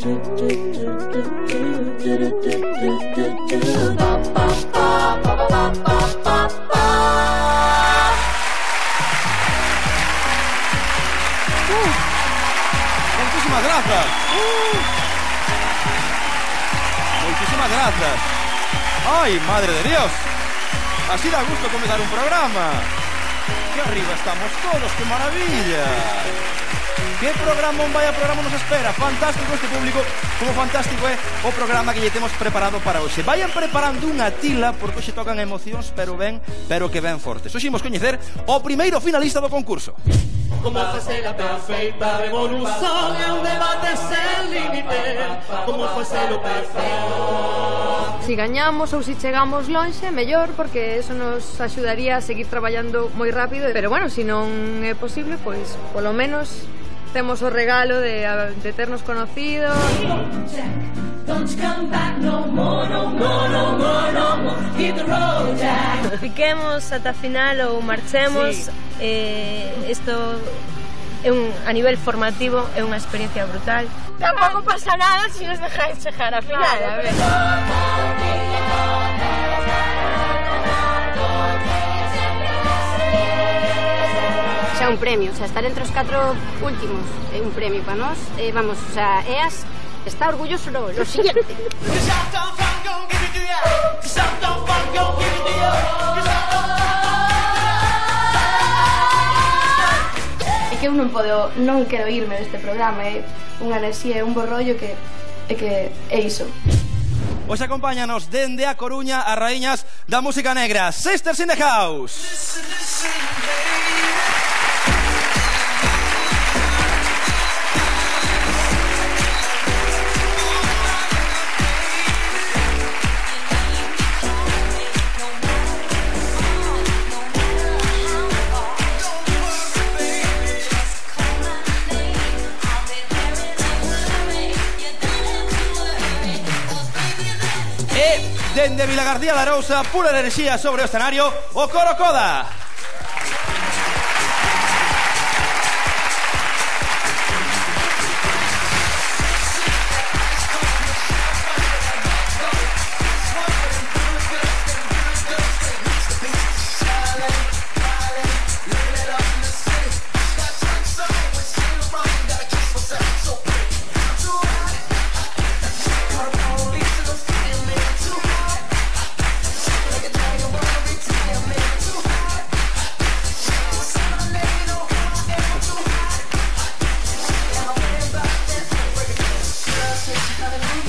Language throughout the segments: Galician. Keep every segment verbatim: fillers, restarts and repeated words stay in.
Muchísimas gracias. Uh. Muchísimas gracias. Ay, madre de Dios. Así da gusto comenzar un programa. Que arriba estamos todos, qué maravilla. Que programa, un vaya programa nos espera. Fantástico este público, como fantástico é o programa que lle temos preparado para hoxe. Vayan preparando unha tila, porque hoxe tocan emocións, pero ben, pero que ben fortes. Hoxe imos coñecer o primeiro finalista do concurso. Como facer a perfeita revolución é un debate sen límite. Como facer o perfeito. Si gañamos ou si chegamos lonxe, mellor, porque eso nos axudaría a seguir traballando moi rápido. Pero bueno, se non é posible, pois polo menos temos o regalo de, de ternos conocido. Fiquemos ata final ou marchemos. Isto é un, a nivel formativo é unha experiencia brutal. Tampouco pasa nada se nos dejáis chegar a final, a ver. Xa un premio, o sea, estar entre os catro últimos é un premio para nós. Eh, vamos, o sea, E A S está orgulloso lo, lo siguiente. É que eu non podo, non quero irme deste programa, é unha enerxía, é un bo rollo que é que é iso. Hoxe acompáñanos dende a Coruña as raíñas da música negra, Sisters in the House. Dende Vilagarcía de Arousa, pura enerxía sobre o escenario, o Coro Coda.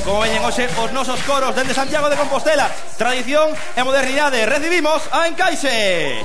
Como veñen hoxe os nosos coros dende Santiago de Compostela, tradición e modernidade. Recibimos a Encaixe.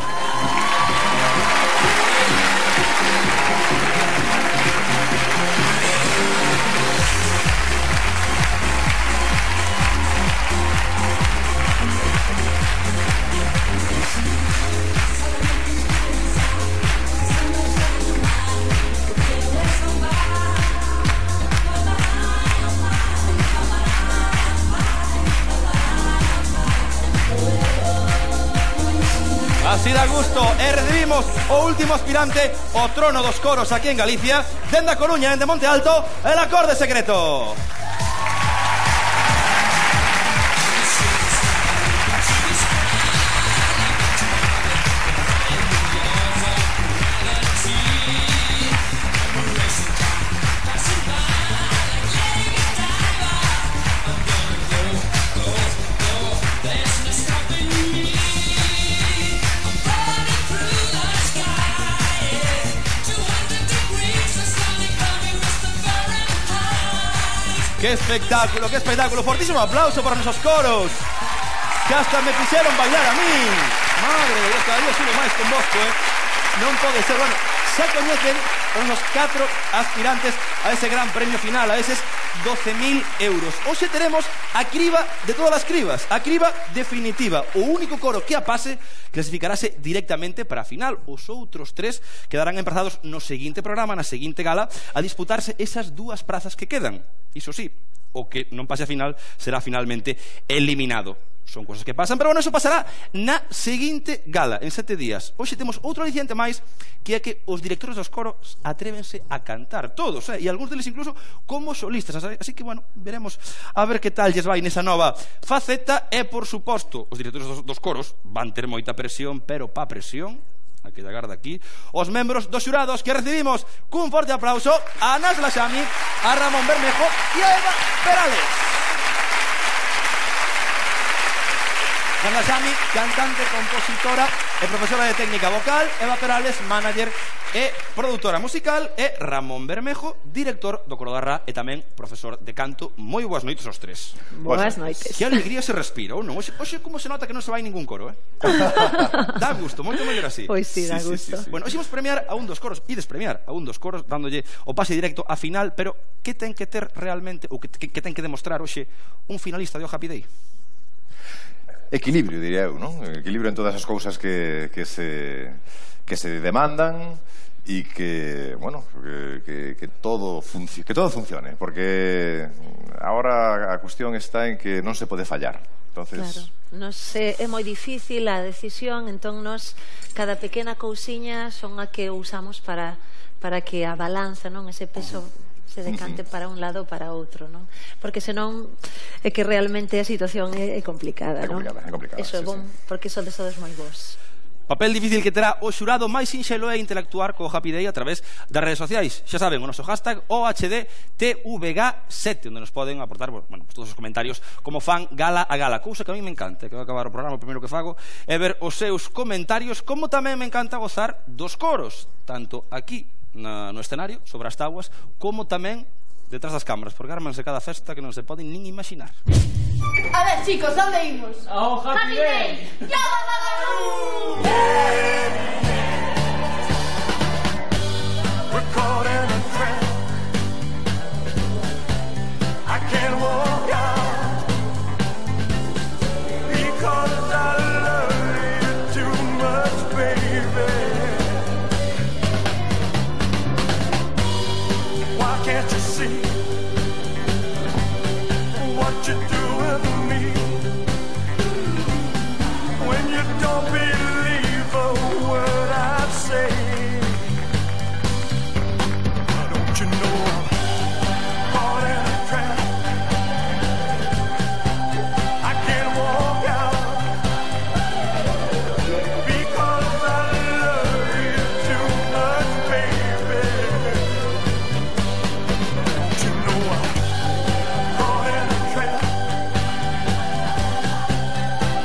Así da gusto, e recibimos o último aspirante ao trono dos coros aquí en Galicia, dende a Coruña, dende Monte Alto, el Acorde Secreto. ¡Qué espectáculo, qué espectáculo! Fortísimo aplauso para nuestros coros, que hasta me quisieron bailar a mí. Madre de Dios, cada día subo máis con vos, eh? Non pode ser. Bueno, xa coñecen os nos catro aspirantes a ese gran premio final, a eses doce mil euros. Hoxe teremos a criba de todas as cribas, a criba definitiva. O único coro que a pase clasificarase directamente para a final. Os outros tres quedarán emprazados no seguinte programa, na seguinte gala, a disputarse esas dúas prazas que quedan. Iso sí, o que non pase a final será finalmente eliminado. son cousas que pasan, pero bueno, eso pasará na seguinte gala, en sete días. Hoxe temos outro aliciente máis, que é que os directores dos coros atrévense a cantar, todos, eh? E algúns deles incluso como solistas, así que bueno, veremos a ver que tal lles vai nesa nova faceta. E por suposto, os directores dos, dos coros van ter moita presión, pero pa presión aquí da garda aquí, os membros dos xurados, que recibimos cun forte aplauso a Anas Laxami, a Ramón Bermejo e a Eva Perales. Anas Laxami, cantante, compositora e profesora de técnica vocal. Eva Perales, manager e produtora musical. E Ramón Bermejo, director do Coro da Rá e tamén profesor de canto. Moi boas noites aos tres. Boas noites. Que alegría se respira, ou non? Oxe, oxe como se nota que non se vai ningún coro, eh? Dá gusto, moito mellor así. Pois sí, dá gusto. Sí, sí, sí. Bueno, hoxe imos premiar a un dos coros, ides premiar a un dos coros dándolle o pase directo a final, pero que ten que ter realmente, ou que, que, que ten que demostrar hoxe un finalista de O Happy Day? Equilibrio, diría eu, non? Equilibrio en todas as cousas que, que, se, que se demandan e que, bueno, que, que, que, todo que todo funcione, porque agora a cuestión está en que non se pode fallar. Entonces... Claro, nos, é, é moi difícil a decisión, entón nos, cada pequena cousiña son a que usamos para, para que a balanza, non, ese peso se decante para un lado ou para outro, non? Porque senón é que realmente a situación é, é complicada, non? É complicada, é complicada. Eso é Sí, bon, sí. porque son de todos moi bons. Papel difícil que terá o xurado máis sinxelo é interactuar co Happy Day a través das redes sociais. Xa saben, o noso hashtag O H D T V G sete, onde nos poden aportar, bueno, todos os comentarios como fan gala a gala, cousa que a mí me encanta, que vai acabar o programa, o primeiro que fago é ver os seus comentarios, como tamén me encanta gozar dos coros, tanto aquí na, no escenario, sobre as tábuas, como tamén detrás das cámaras, porque armanse cada festa que non se poden nin imaginar. A ver, chicos, ¿dónde íbamos? Oh, Happy Day! ¡Ya We're caught in a trap. I can't walk out because I love you too much, baby. Why can't you see what you're doing to me? When you don't believe a word I say. Don't you know I'm caught in a trap? I can't walk out because I love you too much, baby. Don't you know I'm caught in a trap?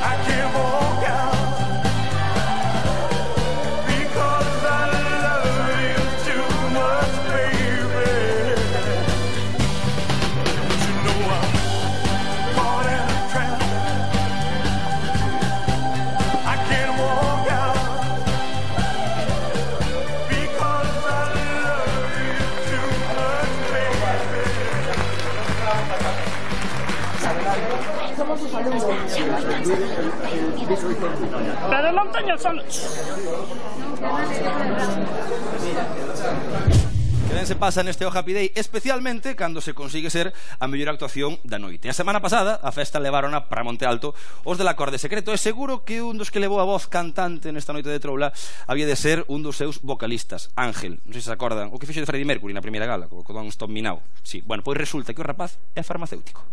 I can't walk out because I love you too much, baby. Don't you know I'm caught in a trap? I can't walk out because I love you too much, baby. Pero non teño sono. Que ben se pasa neste O Happy Day, especialmente cando se consigue ser a mellor actuación da noite. A semana pasada a festa levarona para Monte Alto os del Acorde Secreto, e seguro que un dos que levou a voz cantante nesta noite de troula había de ser un dos seus vocalistas, Ángel. Non sei se se acordan o que fixo de Freddie Mercury na primeira gala, co Don't Stop Me Now. Sí, bueno, pois resulta que o rapaz é farmacéutico.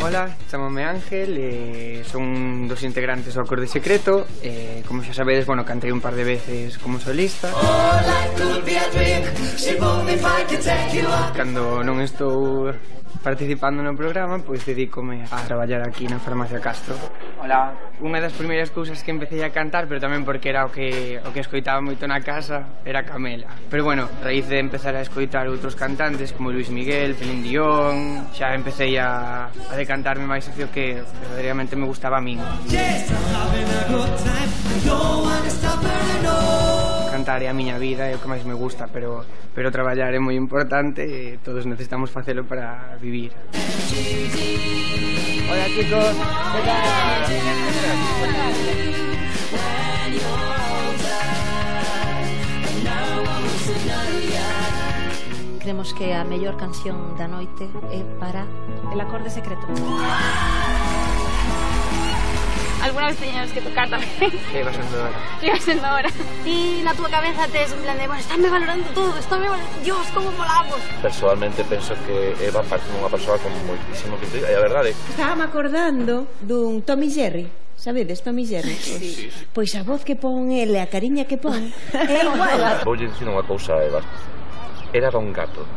Hola, chamame Ángel, eh, son dos integrantes do Acorde Secreto, eh, como xa sabedes, bueno, cantei un par de veces como solista. Cando non estou participando no programa, pois dedícome a traballar aquí na Farmacia Castro. Hola, unha das primeiras cousas que empecé a cantar, pero tamén porque era o que, o que escoitaba moito na casa, era Camela. Pero bueno, a raíz de empezar a escoitar outros cantantes como Luis Miguel, Celine Dion, xa empecé a, a decantarme máis hacia o que verdadeiramente me gustaba a min. Cantar é a miña vida, é o que máis me gusta, pero, pero traballar é moi importante e todos necesitamos facelo para vivir. Hola chicos, ¿qué tal? Creemos que a mellor canción da noite é para El acorde secreto. Alguna vez teñamos que tocar tamén. Iba sendo hora. Iba sendo hora. E na túa cabeza tes en plan de, bueno, estáme valorando todo, estáme valorando, Dios, como molamos. Personalmente penso que Eva parte dunha persoa con moitísimo que e a verdade. Estaba acordando dun Tom e Jerry. Sabedes, Tom e Jerry? Sí. Pois a voz que pon ele, a cariña que pon, é igual. Voulle dicir unha cousa, Eva. Era un gato.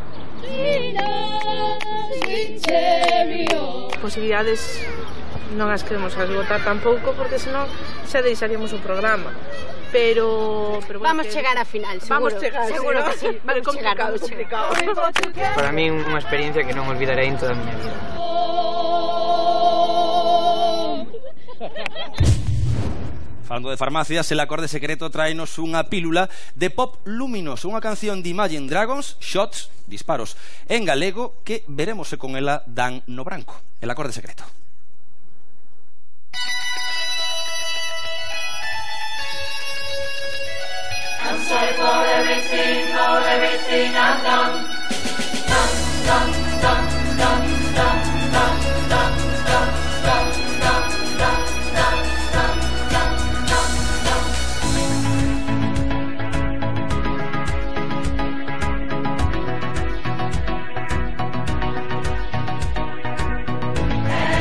Posibilidades non as queremos esgotar tampouco, porque senón xa deixaríamos o programa. Pero, pero bueno, vamos que... chegar a final, seguro. Vamos chegar, seguro sí, que sí. Vale, Vamos complicado, chegar, complicado. Para mí unha experiencia que non olvidarei en toda a miña vida. Falando de farmacias, El acorde secreto traenos unha pílula de pop luminoso, unha canción de Imagine Dragons, Shots, disparos, en galego, que veremos se con ela dan no branco. El acorde secreto. I'm sorry for everything, for everything I've done. Done, done, done, done, done, done, done, done, done, done, done, done, done, done, done, done.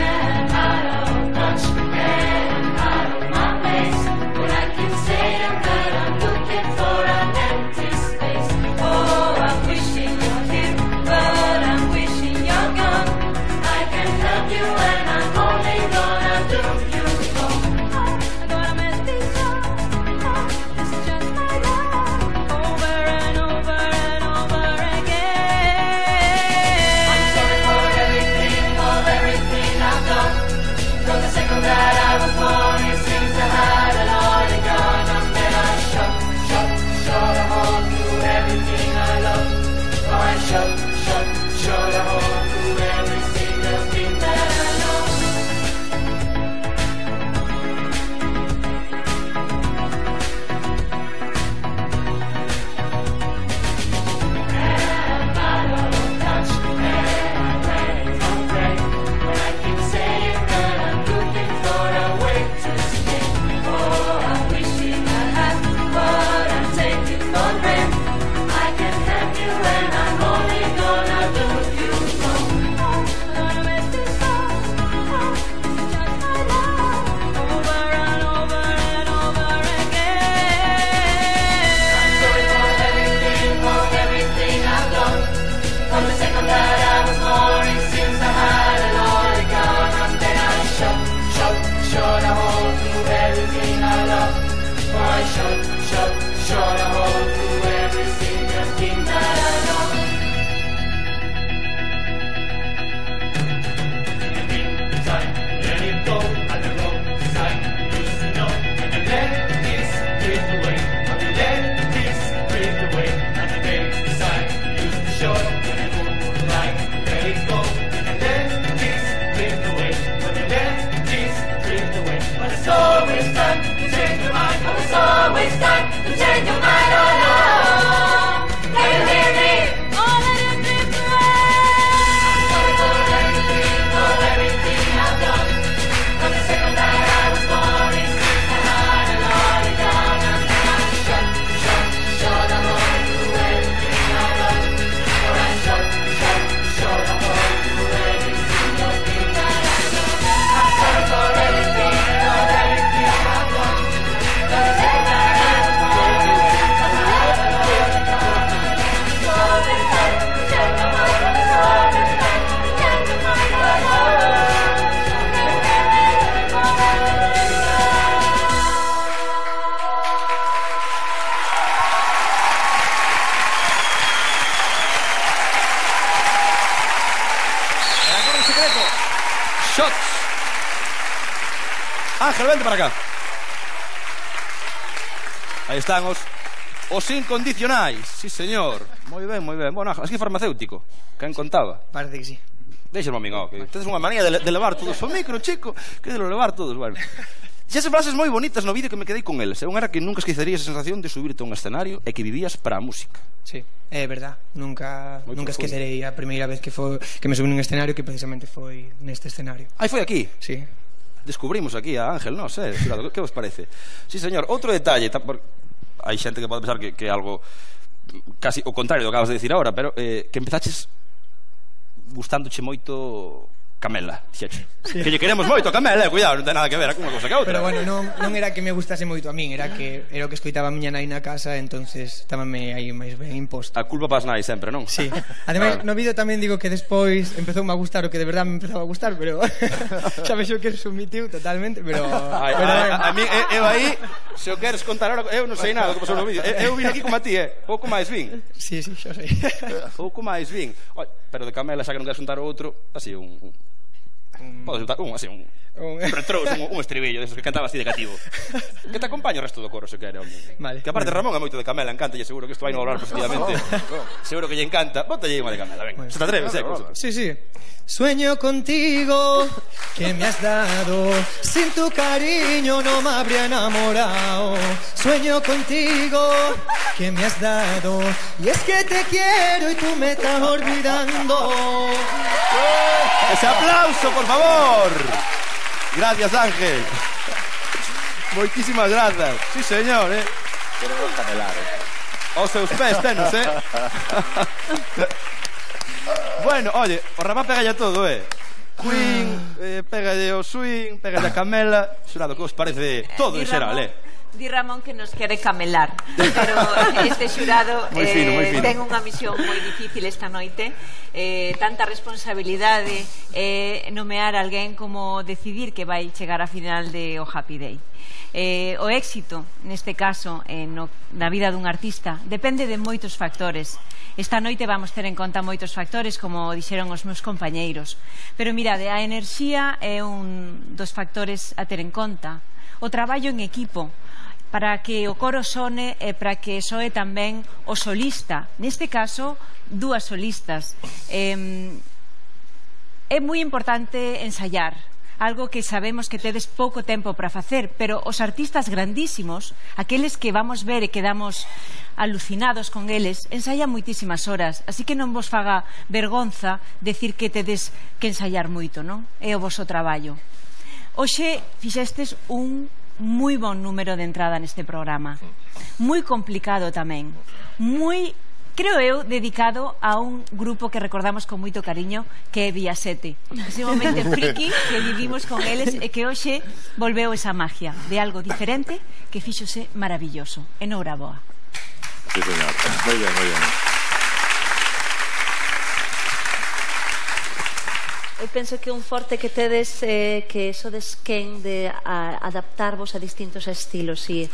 And I don't touch, and out of my place, but I can say I'm that I'm looking for an empty space. Oh, I'm wishing you're here, but I'm wishing you're gone. I can help you and I'm only gonna do you wrong. I'm gonna mess this up. Oh, this is just my love, over and over and over again. I'm sorry for everything, for everything I've done. From the second that I was born, it seems I had a lot of gun. And then I shot, shot, shot a hole through everything I love. Oh, I shot, shot, shot a hole through every single thing that I know. And I don't touch, and I pray, don't pray. When I keep saying that I'm looking for a way to escape. Oh, I'm wishing I had what I'm taking for granted. I can help you and I'm only gonna do you wrong. I'm gonna mess this up. Oh, this is just my love, over and over and over again. I'm sorry for everything, for everything I've done. From the second that I was born, it seems I had a lot of gun. And then I shot, shot, shot a hole through everything I love. Oh, I shot, shot, shot a hole through every single thing that I know. Time, let it go, and the road side used to know. And let this drift away, and we let this drift away. And the days beside used to show, and it would like let it go. And let this drift away, and we let this drift away. But it's always time to change your mind, but it's always time to change your mind, oh no. Can you hear me? Oh, let it drift away. I'm sorry for everything, for everything I've done. From the second that I was born, it seems I had a lot of gun. And then I shot, shot, shot a hole through everything I love. Or I shot, shot, shot a hole through every single thing that I know. I'm sorry for everything, for everything I've done. From the second that I was born, it seems I had a lot of gun. It's always time to change your mind. It's always time to change your mind, oh no. El acorde secreto. Shots. Ángel, vente para acá. Aí están os os incondicionais. Sí, señor. Moi ben, moi ben. Bueno, Ángel, así farmacéutico. Quen contaba? Parece que sí. Deixa-me a min, ó, que tedes unha manía de, de levar todos o micro, chico, que de lo levar todos, bueno. Dixese frases moi bonitas no vídeo que me quedei con eles. Un era que nunca esquecerías a sensación de subirte a un escenario e que vivías para a música. Sí, é verdad. Nunca nunca esquecerei a primeira vez que foi que me subí nun escenario, que precisamente foi neste escenario. Aí foi aquí? Sí. Descubrimos aquí a Ángel, non sei, xurado, que vos parece? Sí, señor, outro detalle, hai xente que pode pensar que, que é algo casi o contrario do que acabas de decir agora, pero eh, que empezaches gustándoche moito Camela, dixeche. Sí. Que lle queremos moito a Camela, eh, cuidado, non ten nada que ver con unha cosa que outra. Pero bueno, non, non era que me gustase moito a min, era que era o que escoitaba a miña nai na casa, entonces estábame aí máis ben imposto. A culpa pas nai sempre, non? Sí. Ademais, no vídeo tamén digo que despois empezoume a gustar o que de verdade me empezaba a gustar, pero xa vexo que sumitiu totalmente, pero... Ay, pero a, a, a mí, eu aí, se o queres contar ahora, eu non sei nada do que pasou no vídeo. Eu vim aquí como a ti, eh? Pouco máis vin. Sí, sí, xa sei. Pouco máis vin. Pero de Camela, xa que non queres contar outro, así un... Podes juntar un, así, un, un retrous, un, un estribillo desos que cantaba así de cativo. Que te acompaña o resto do coro, se quere, home. Vale. Que aparte Ramón é moito de Camela, encanta, e seguro que isto vai no hablar positivamente. Seguro que lle encanta. Bótalle unha de Camela, ven. Se te atreves, eh? Sí, sí. Sueño contigo, que me has dado, sin tu cariño no me habría enamorado. Sueño contigo, que me has dado, y es que te quiero y tú me estás olvidando. Ese aplauso, por favor. Gracias, Ángel. Moitísimas grazas. Sí, señor, eh. Quero camelar, eh. Os seus pés tenos, eh. Bueno, oye, o Ramá pega ya todo, eh. Queen, eh, pega de o swing, pega de a Camela. Xurado, que os parece todo en xeral, eh. Di Ramón que nos quere camelar, pero este xurado moi fino, moi fino. eh, ten unha misión moi difícil esta noite, eh, tanta responsabilidade eh, nomear a alguén como decidir que vai chegar a final de o Happy Day. Eh, o éxito, neste caso, eh, no, na vida dun artista, depende de moitos factores. Esta noite vamos ter en conta moitos factores, como dixeron os meus compañeiros, pero mirade, a enerxía é un dos factores a ter en conta, o traballo en equipo, para que o coro sone e para que soe tamén o solista, neste caso dúas solistas. eh, é moi importante ensaiar, algo que sabemos que tedes pouco tempo para facer, pero os artistas grandísimos, aqueles que vamos ver e quedamos alucinados con eles, ensaian moitísimas horas, así que non vos faga vergonza decir que tedes que ensaiar moito, non? É o voso traballo. Hoxe fixestes un moi bon número de entrada neste programa, moi complicado tamén, moi, creo eu, dedicado a un grupo que recordamos con moito cariño, que é Vía sete, ese momento friki que vivimos con eles e que hoxe volveu esa magia de algo diferente que fíxose maravilloso. Enhoraboa. Sí, señor, moi ben, moi ben. Eu penso que un forte que tedes eh, que sodes quen de a, adaptarvos a distintos estilos, e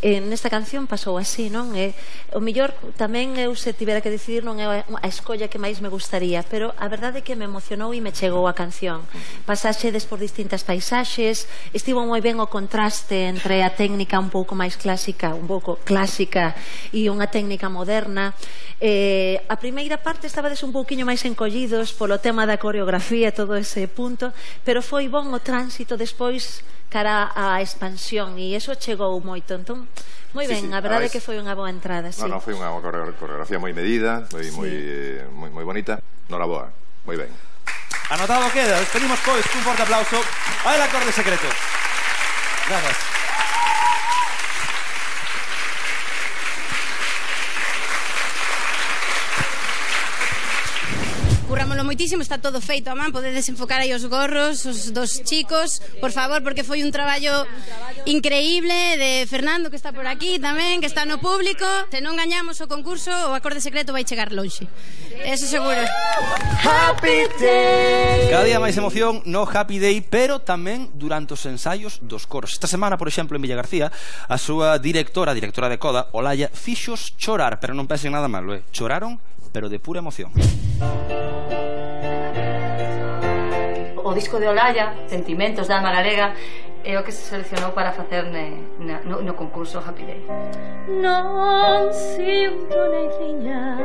eh, nesta canción pasou así, non? Eh, o mellor tamén eu se tivera que decidir non é a escolla que máis me gustaría, pero a verdade é que me emocionou e me chegou a canción. Pasaxedes por distintas paisaxes, estivo moi ben o contraste entre a técnica un pouco máis clásica, un pouco clásica e unha técnica moderna. Eh, a primeira parte estabades un pouquiño máis encollidos polo tema da coreografía, todo ese punto, pero foi bon o tránsito despois cara á expansión e eso chegou moito, entón moi ben, sí, sí, a verdade é que foi unha boa entrada. Sí. No, no, foi unha coreografía moi medida, moi, sí. moi, moi, moi bonita. Noraboa, moi ben. Anotado queda, despedimos pois cun forte aplauso ao acorde secreto. Gracias. Currámoslo moitísimo, está todo feito a man, podedes enfocar aí os gorros, os dos chicos, por favor, porque foi un traballo increíble de Fernando, que está por aquí tamén, que está no público. Se non gañamos o concurso, o acorde secreto vai chegar lonxe. Eso seguro. Happy Day! Cada día máis emoción no Happy Day, pero tamén durante os ensaios dos coros. Esta semana, por exemplo, en Villa García, a súa directora, directora de Coda, Olaya, fixos chorar, pero non pensen nada malo, eh? Choraron, pero de pura emoción. O disco de Olaya, Sentimentos da Alma Galega, é o que se seleccionou para facer ne, ne, no, no concurso Happy Day. Non sinto nem viña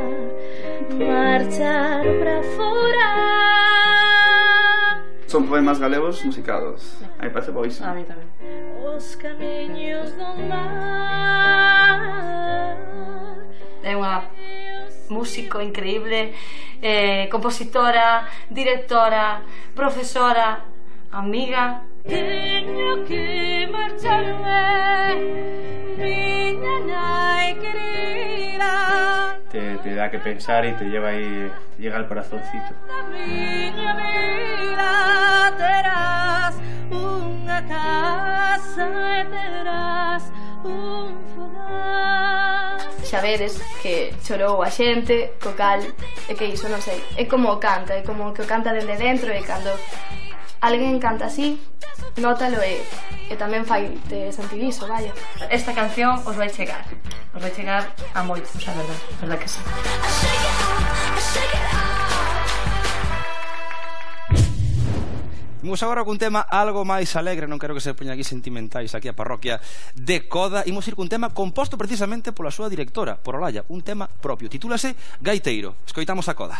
marchar pra fora. Son poemas galegos musicados. A mí parece boísimo. A mí tamén. Os camiños do mar. É unha músico increíble, eh, compositora, directora, profesora, amiga. Teño que marcharme, miña nai querida. Te, te da que pensar y te lleva ahí, te llega al corazoncito. Miña vida terás unha casa e terás un fogar. Xa veres que chorou a xente, co cal, é que iso non sei, é como o canta, é como que o canta dende dentro e cando alguén canta así, nótalo e, e tamén fai de sentiviso, vaya. Esta canción os vai chegar, os vai chegar a moitos, a verdad, a verdad que sí. Imos agora cun tema algo máis alegre, non quero que se poña aquí sentimentais aquí a parroquia de Coda. Imos ir cun tema composto precisamente pola súa directora, por Olalla, un tema propio, titúlase Gaiteiro. Escoitamos a Coda.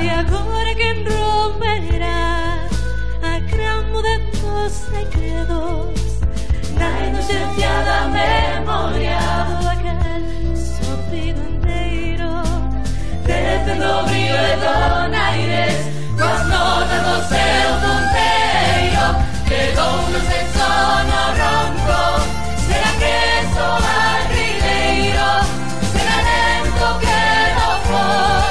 E agora quen romperá a cramo de tus segredos na inocencia da memoria do aquel sofrido inteiro desde o brillo e donaires coas notas do seu ponteiro quedou no sexo no ronco será que soa rileiro será lento que no for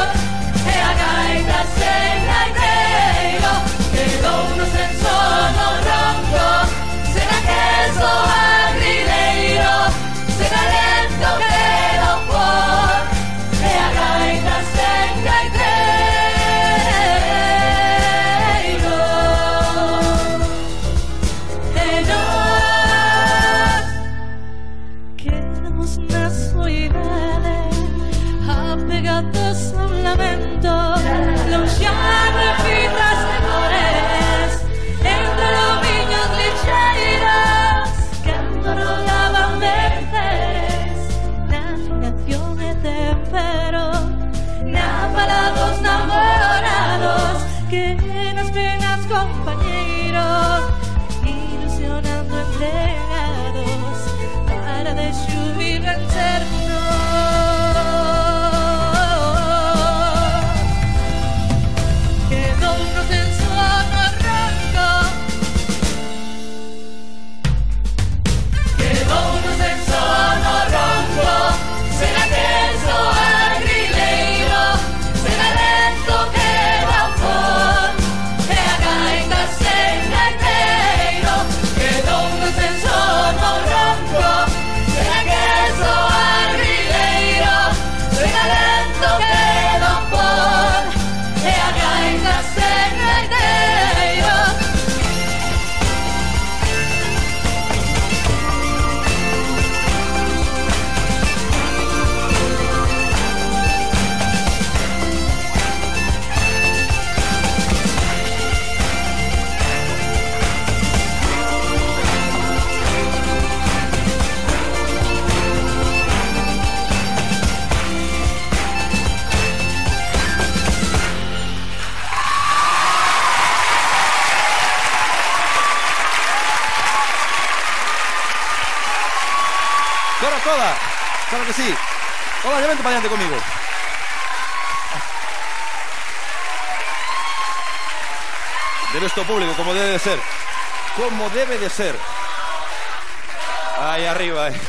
Coda, claro que sí. Coda, ya vente para adelante conmigo. Debe esto público, como debe de ser. Como debe de ser. Ahí arriba, eh.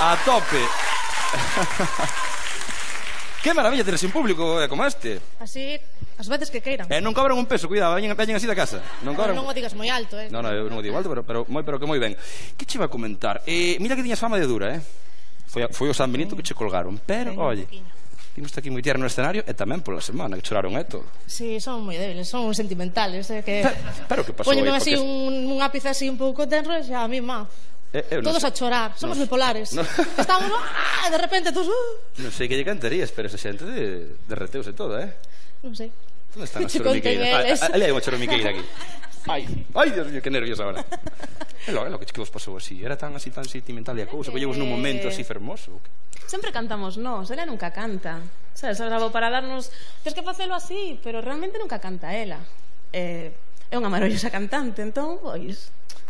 A tope. Qué maravilla tener un público como este. Así, as veces que queiran. E non cobran un peso, cuidado, veñen así da casa. Non cobran. Non o digas moi alto, eh. Non, non, eu non o digo alto, pero, pero, moi, pero que moi ben. Que che iba a comentar? Eh, mira que tiñas fama de dura, eh? Foi, foi o San Benito que che colgaron, pero, oye, vimos aquí moi tierno no escenario e tamén pola semana, que choraron, eh, todo. Sí, son moi débiles, son sentimentales, eh, que... Pero, pero que pasou Póñeme aí? así Porque... un, un ápice así un pouco tenro e xa a mí, má. Eh, Todos sei. a chorar, somos no, bipolares. no. Estamos, ah, de repente todos... Uh. Non sei que lle cantarías, pero esa xente de, derreteuse todo, eh? Non sei. Onde están as Che conten choromiqueiras? eles. Ah, ali hai unha choromiqueira aquí. Ai, ai, Dios mío, que nervios agora. É lo, é lo que vos pasou así. Era tan así, tan sentimental e a cousa, que llevos nun momento así fermoso. Sempre cantamos nós, ela nunca canta. Sabes, grabou para darnos... Tens que facelo así, pero realmente nunca canta ela. Eh, é unha maravillosa cantante, entón, pois...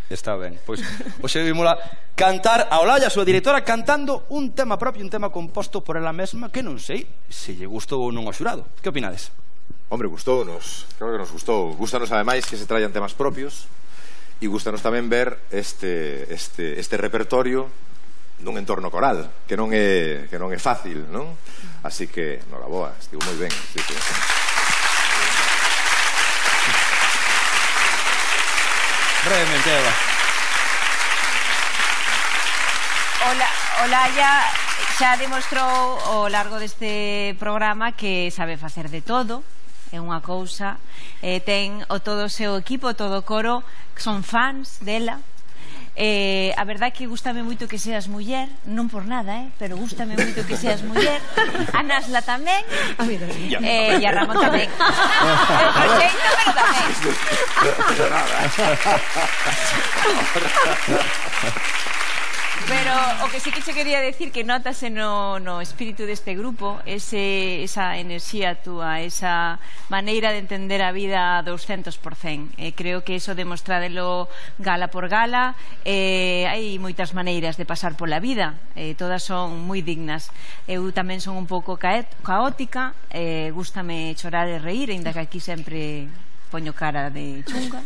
Está ben, pois hoxe vimosla cantar a Olalla, a súa directora, cantando un tema propio, un tema composto por ela mesma, que non sei se lle gustou ou non ao xurado. Que opinades? Hombre, gustounos, claro que nos gustou. Gústanos ademais que se traian temas propios e gústanos tamén ver este, este, este repertorio nun entorno coral, que non é, que non é fácil, non? Así que, noraboa, estivo moi ben. Así que... Brevemente, Eva. Ola, Olalla xa demostrou ao largo deste programa que sabe facer de todo, é unha cousa, eh, ten o todo o seu equipo, todo o coro, que son fans dela. Eh, a verdade que gustame moito que seas muller, non por nada, eh, pero gustame moito que seas muller. A Nasla tamén, eh, e a Ramón tamén. El proxecto, pero tamén. Pero o que sí que se quería decir que notase no, no espírito deste grupo ese, esa enerxía túa, esa maneira de entender a vida doscentos por cento. Eh, creo que eso demostradelo gala por gala. Eh, hai moitas maneiras de pasar pola vida, eh, todas son moi dignas. Eu tamén son un pouco caótica, eh, gústame chorar e reír, ainda que aquí sempre poño cara de chunga,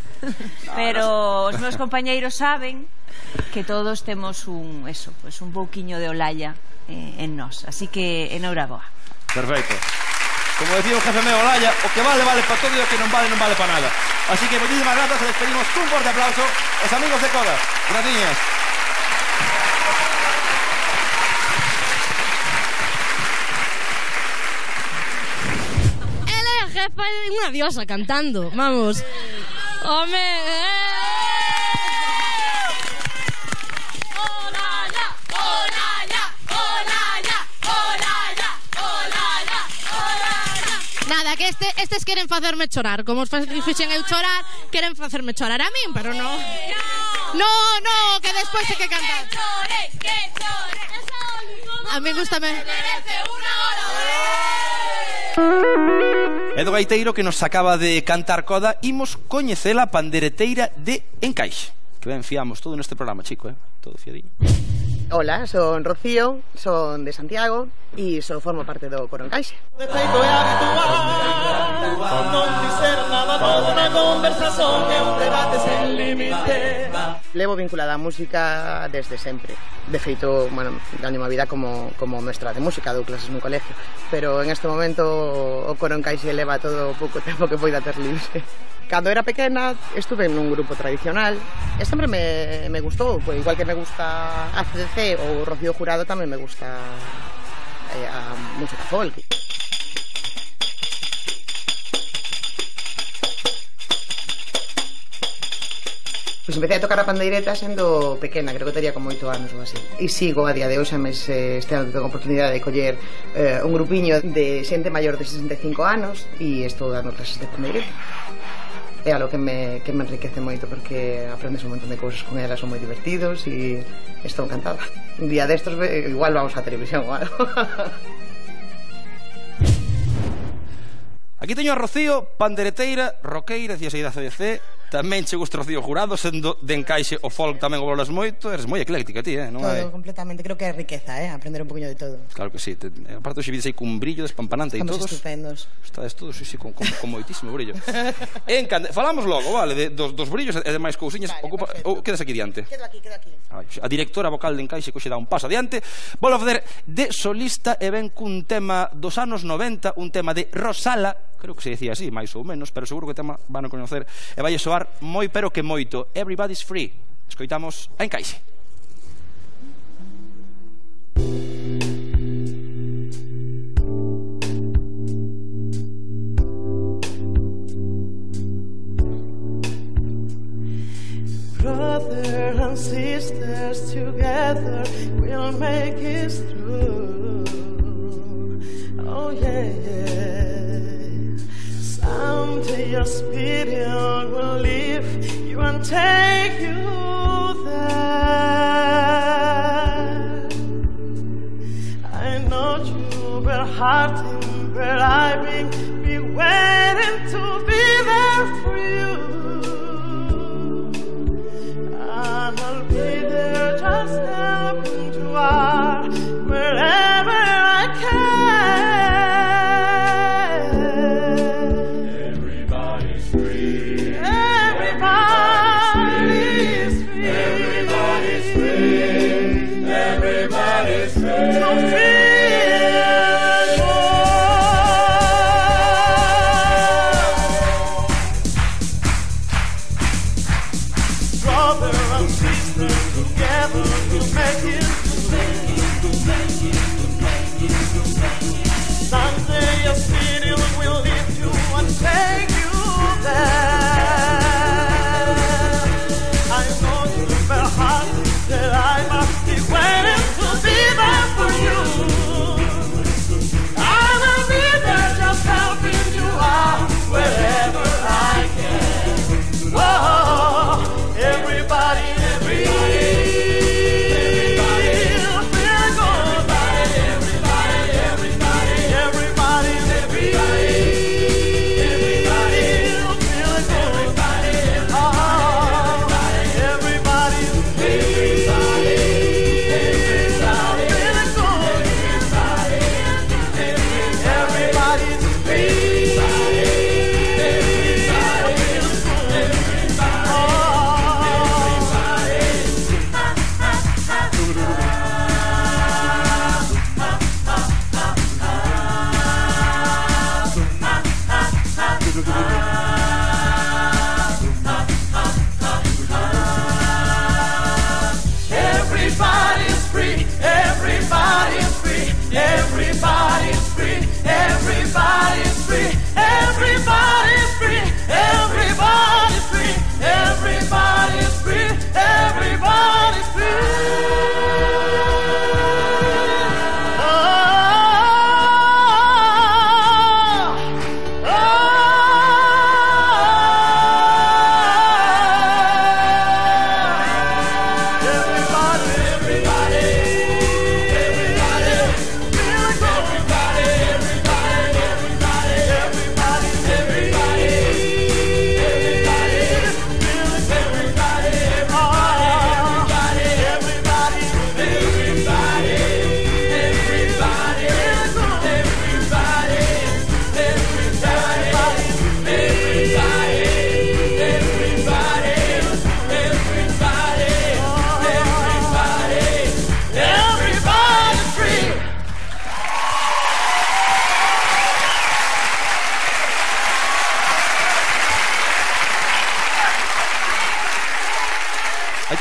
pero os meus compañeiros saben que todos temos un eso, pues un pouquiño de Olalla eh, en nós, así que enhoraboa. Perfecto. Como decía o jefe meu Olalla, o que vale vale para todo e o que non vale non vale para nada. Así que moitísimas grazas, e despedimos cun forte aplauso os amigos de Coda. Graciñas. Ela é a jefa, é unha diosa cantando, vamos. Home, eh. Nada, que este, estes queren facerme chorar. Como os fixen eu chorar, queren facerme chorar a min, pero non. No, no, que despois hai que cantar. A mí gustame. E do gaiteiro que nos acaba de cantar Coda, imos coñecela pandereteira de Encaixe. Que ben fiamos todo neste programa, chico, eh? Todo fiadiño. Hola, son Rocío, son de Santiago e so formo parte do coro Encaixe. De feito é habitual, non dizer nada, toda unha conversación é un debate sen límite. Levo vinculada a música desde sempre. De feito, bueno, gaño unha vida como, como mestra de música, dou clases no colegio, pero en este momento o coro Encaixe leva todo o pouco tempo que poida ter libre. Cando era pequena estuve nun grupo tradicional e sempre me, me gustou, pues, igual que me gusta A C D C ou Rocío Jurado, tamén me gusta eh, a música folk. Pois empecé a tocar a pandeireta sendo pequena, creo que tería como oito anos ou así. E sigo a día de hoxe, mes este ano tengo a oportunidade de coller eh, un grupiño de xente maior de sesenta e cinco anos e estou dando clases de pandeireta. É algo que me, que me enriquece moito porque aprendes un montón de cousas con elas, son moi divertidos e estou encantada. Un día destos igual vamos á televisión ou algo. Aquí teño a Rocío, pandereteira, roqueira, decía a C D C, tamén che gusta Rocío Jurado, sendo de encaixe o folk tamén o valoras moito, eres moi ecléctica ti, eh? Non Todo, hai... completamente, creo que é riqueza, eh? Aprender un poquinho de todo. Claro que sí, te... aparte hoxe vides aí cun brillo despampanante e Estamos todos... estupendos. Estades todos, sí, sí, con, con, con moitísimo brillo. Encanta... Falamos logo, vale, de, dos, dos brillos e de máis cousiñas. Vale, Ocupa... Ou quedas aquí diante? Quedo aquí, quedo aquí. A directora vocal de encaixe que hoxe dá un paso adiante. Volvo a facer de solista e ven cun tema dos anos noventa, un tema de Rosala, creo que se decía así, máis ou menos, pero seguro que o tema van a coñecer e vai soar moi pero que moito. Everybody's Free. Escoitamos a encaixe. Brothers and sisters together we'll make it through. Oh yeah, yeah. Someday your spirit will lift you and take you there. I know you were hurting, but I've been be waiting to be there for you. And I'll be there just helping to out wherever I can. Everybody's free. Everybody's free. Everybody's free. Everybody's free. To feel someday your spirit will lift you and take you there. I know you've been hard, that I must be waiting to be there for you. I will be there just helping you out wherever I can. Whoa, everybody, everybody.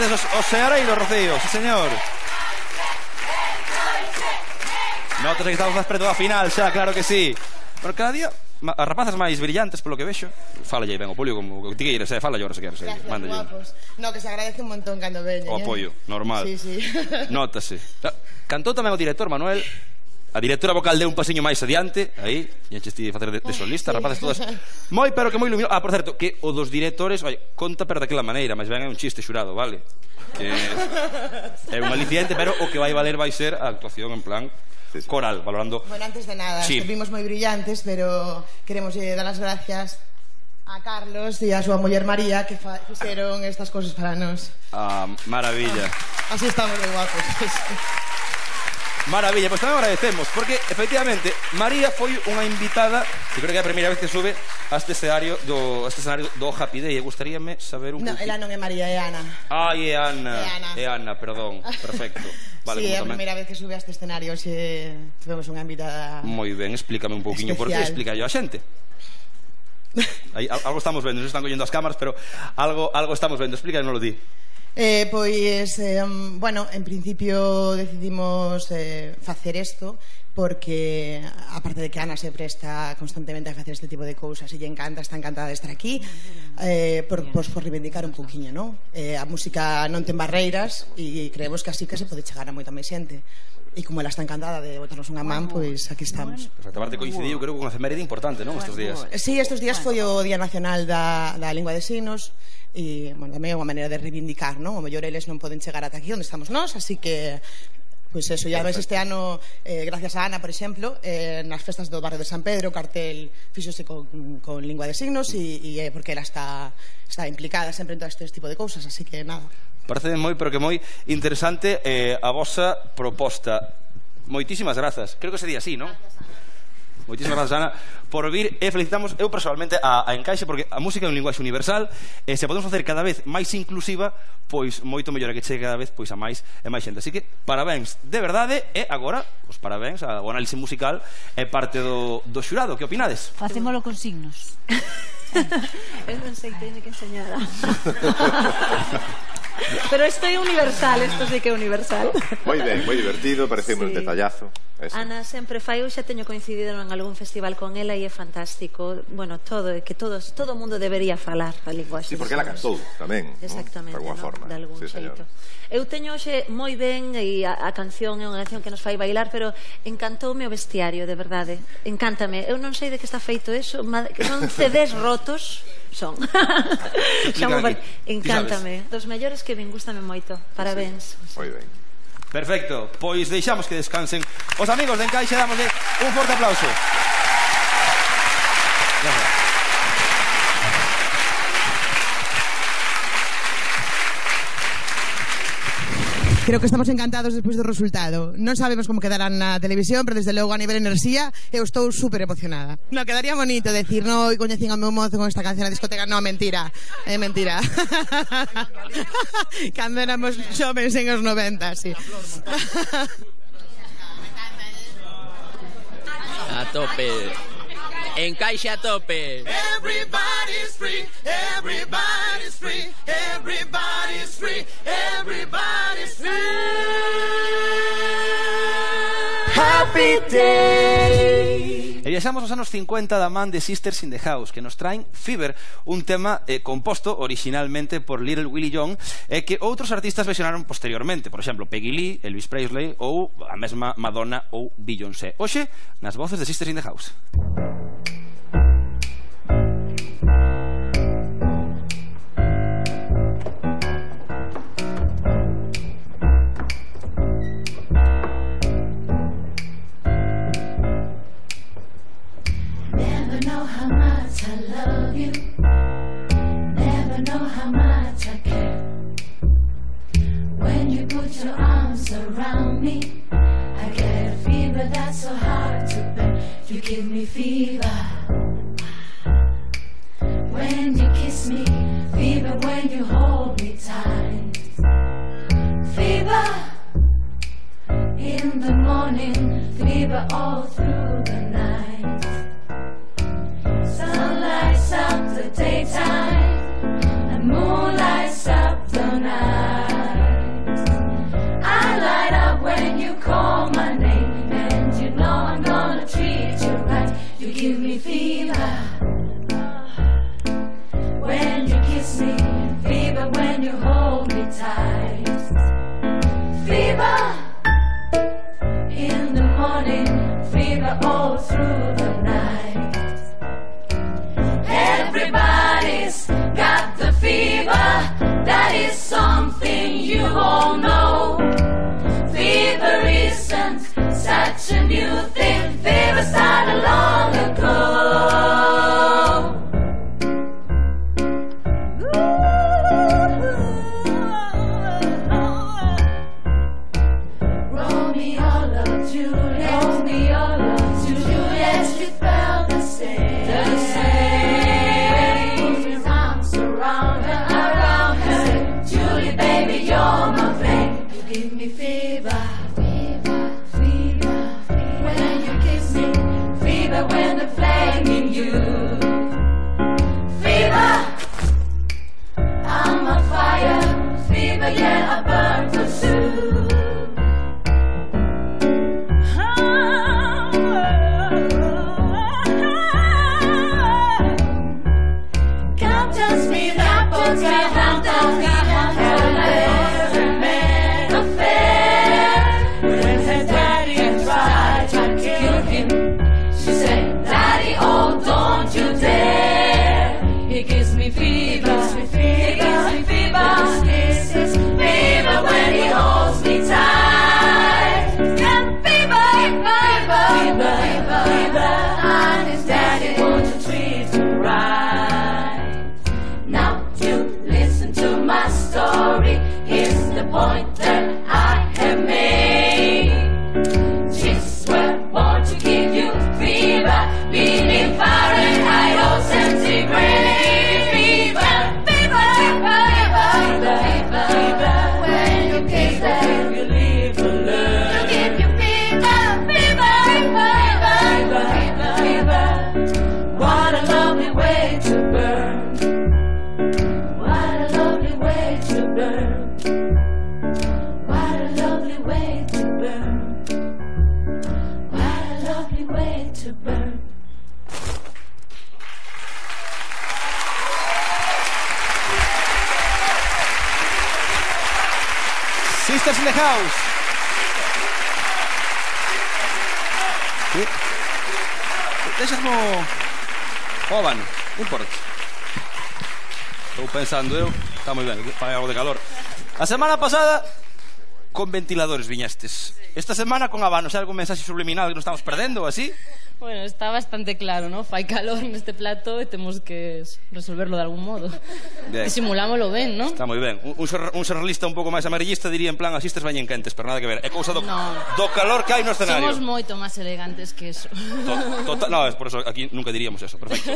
Os, os seareiros, Rocío, sí señor. Notas que estamos máis preto da final xa, claro que sí. Pero cada día as rapazas máis brillantes, polo que vexo. Fala aí ben o Polio, como que ti queires, eh? Fala aí ahora se queres. Gracias, Manda guapos. No, que se agradece un montón cando veñen. O apoio, normal. Sí, sí. Notase. Cantou tamén o director Manuel. A directora vocal deu un pasiño máis adiante. Aí, e enches ti de facer de, de solista, sí. Rapaces todas moi, pero que moi luminoso. Ah, por certo, que o dos directores, oi, conta pero daquela maneira, mas ben é un chiste xurado, vale? Que é un aliciente, pero o que vai valer vai ser a actuación en plan coral, valorando. Bueno, antes de nada, sí. Estuvimos moi brillantes, pero queremos eh, dar as gracias A Carlos e a súa muller María que fixeron estas cousas para nós. Ah, maravilla. Así estamos de guapos. Maravilla, pois tamén agradecemos porque efectivamente María foi unha invitada, que creo que é a primeira vez que sube a este escenario do, a este escenario do Happy Day. E gustaríame saber un No, pouquinho. ela non é María, é Ana. Ai, é Ana. É Ana. É Ana, perdón. Perfecto. Vale, Sí, é a como tamén- primeira vez que sube a este escenario. Hoxe tivemos unha invitada. Moi ben, explícame un pouquiño por qué, Especial. explica yo a xente. Aí, al- algo estamos vendo, non se están collendo as cámaras, pero algo algo estamos vendo, explícanoslo ti. Eh, pois, eh, bueno, en principio decidimos eh, facer isto porque, aparte de que Ana se presta constantemente a facer este tipo de cousas e lle encanta, está encantada de estar aquí, eh, por, pois, por reivindicar un pouquiño, non? Eh, a música non ten barreiras e creemos que así que se pode chegar a moita máis xente. E como ela está encantada de botarnos unha man, pois aquí estamos. Pois a parte coincidiu, creo que unha efeméride importante, non, estes días. Sí, estes días foi o Día Nacional da, da Lingua de Signos e, bueno, tamén é unha maneira de reivindicar, non? O mellor eles non poden chegar ata aquí onde estamos nós, así que pois eso, ya ves este ano eh, gracias a Ana, por exemplo, eh, nas festas do barrio de San Pedro, o cartel fíxose con, con Lingua de Signos e, e é porque ela está, está implicada sempre en todo este tipo de cousas, así que nada. Parece moi, pero que moi interesante eh, a vosa proposta. Moitísimas grazas. Creo que sería así, non? Moitísimas grazas, Ana, por vir e felicitamos eu personalmente a, a Encaixe porque a música é un linguaxe universal e se podemos facer cada vez máis inclusiva, pois moito mellor a que chegue cada vez pois a máis e máis xente. Así que parabéns de verdade e agora, os parabéns ao análise musical e parte do, do xurado. Que opinades? Facémolo con signos. Eu non sei, teño que enseñar. Pero isto é universal, isto sí que é universal. Moi ben, moi divertido, parece un detallazo. Eso. Ana sempre fai, eu xa teño coincidido en algún festival con ela e é fantástico. Bueno, todo, é que todos, todo o mundo debería falar a linguaxe. Sí, porque ela cantou tamén, exactamente, ¿no? De alguna ¿no? forma. De algún Sí, xeito. señora. Eu teño hoxe moi ben e a, a canción é unha canción que nos fai bailar, pero encantoume o vestiario, de verdade. Encántame. Eu non sei de que está feito eso, que son C Ds rotos. Son. Son par... Encántame. Dos mellores que vin, gústame moito. Parabéns. Moi ben. Perfecto, pois deixamos que descansen os amigos de Encaixe, damosle un forte aplauso. Gracias. Creo que estamos encantados despois do resultado. Non sabemos como quedarán na televisión, pero desde logo a nivel enerxía eu estou super emocionada. No, quedaría bonito decir, no, e coñecín ao meu mozo con esta canción na discoteca. No, mentira, é mentira. Cando éramos xovens en os noventa, sí. A tope. Encaixe a tope. Everybody's free, everybody's free, everybody's free, everybody's free. Happy Day. E viaxamos aos anos cincuenta da man de Sisters in the House, que nos traen Fever, un tema eh, composto originalmente por Little Willie Young e que outros artistas versionaron posteriormente, por exemplo, Peggy Lee, Elvis Presley ou a mesma Madonna ou Beyoncé. Hoxe, nas voces de Sisters in the House. Never know how much I love you. Never know how much I care. When you put your arms around me, I get a fever that's so hard to bear. You give me fever. When you kiss me, fever when you hold me tight. Fever in the morning, fever all through the night. Sun lights up the daytime, and moon lights up the night. I light up when you call my name, and you know I'm gonna treat you right. You give me fever when you kiss me, fever when you hold me tight. Fever in the morning, fever all through the night. Everybody's got the fever, that is something you all know. Fever isn't such a new thing, fever started long ago. give me fever, fever, fever, fever. When you kiss me, fever when the flame in you. Fever, I'm on fire. Fever, yeah, I burn for soon. Come just me that puts me down, down, down. Point that I have made. Just were born to give you fever, beating Fahrenheit or centigrade. Fever, fever, fever, fever, fever. When you kiss them, you leave alone. To give you fever, fever, fever, fever, fever. What a lovely way to burn. What a lovely way to burn. Sisters in the house. Sí. Deixasmo Oban, non importa. Estou pensando eu, está moi ben, fai algo de calor. A semana pasada con ventiladores viñestes. Esta semana con habanos, hai algún mensaxe subliminal que nos estamos perdendo ou así? Bueno, está bastante claro, ¿no? Fai calor neste plato e temos que resolverlo de algún modo. Disimulámoslo ben, ¿no? Está moi ben. Un, un xornalista un pouco máis amarillista diría en plan as sisters bañen quentes, pero nada que ver. É cousa do, no. do calor que hai no escenario. Somos moito máis elegantes que eso. To, total, no, es por eso aquí nunca diríamos eso. Perfecto.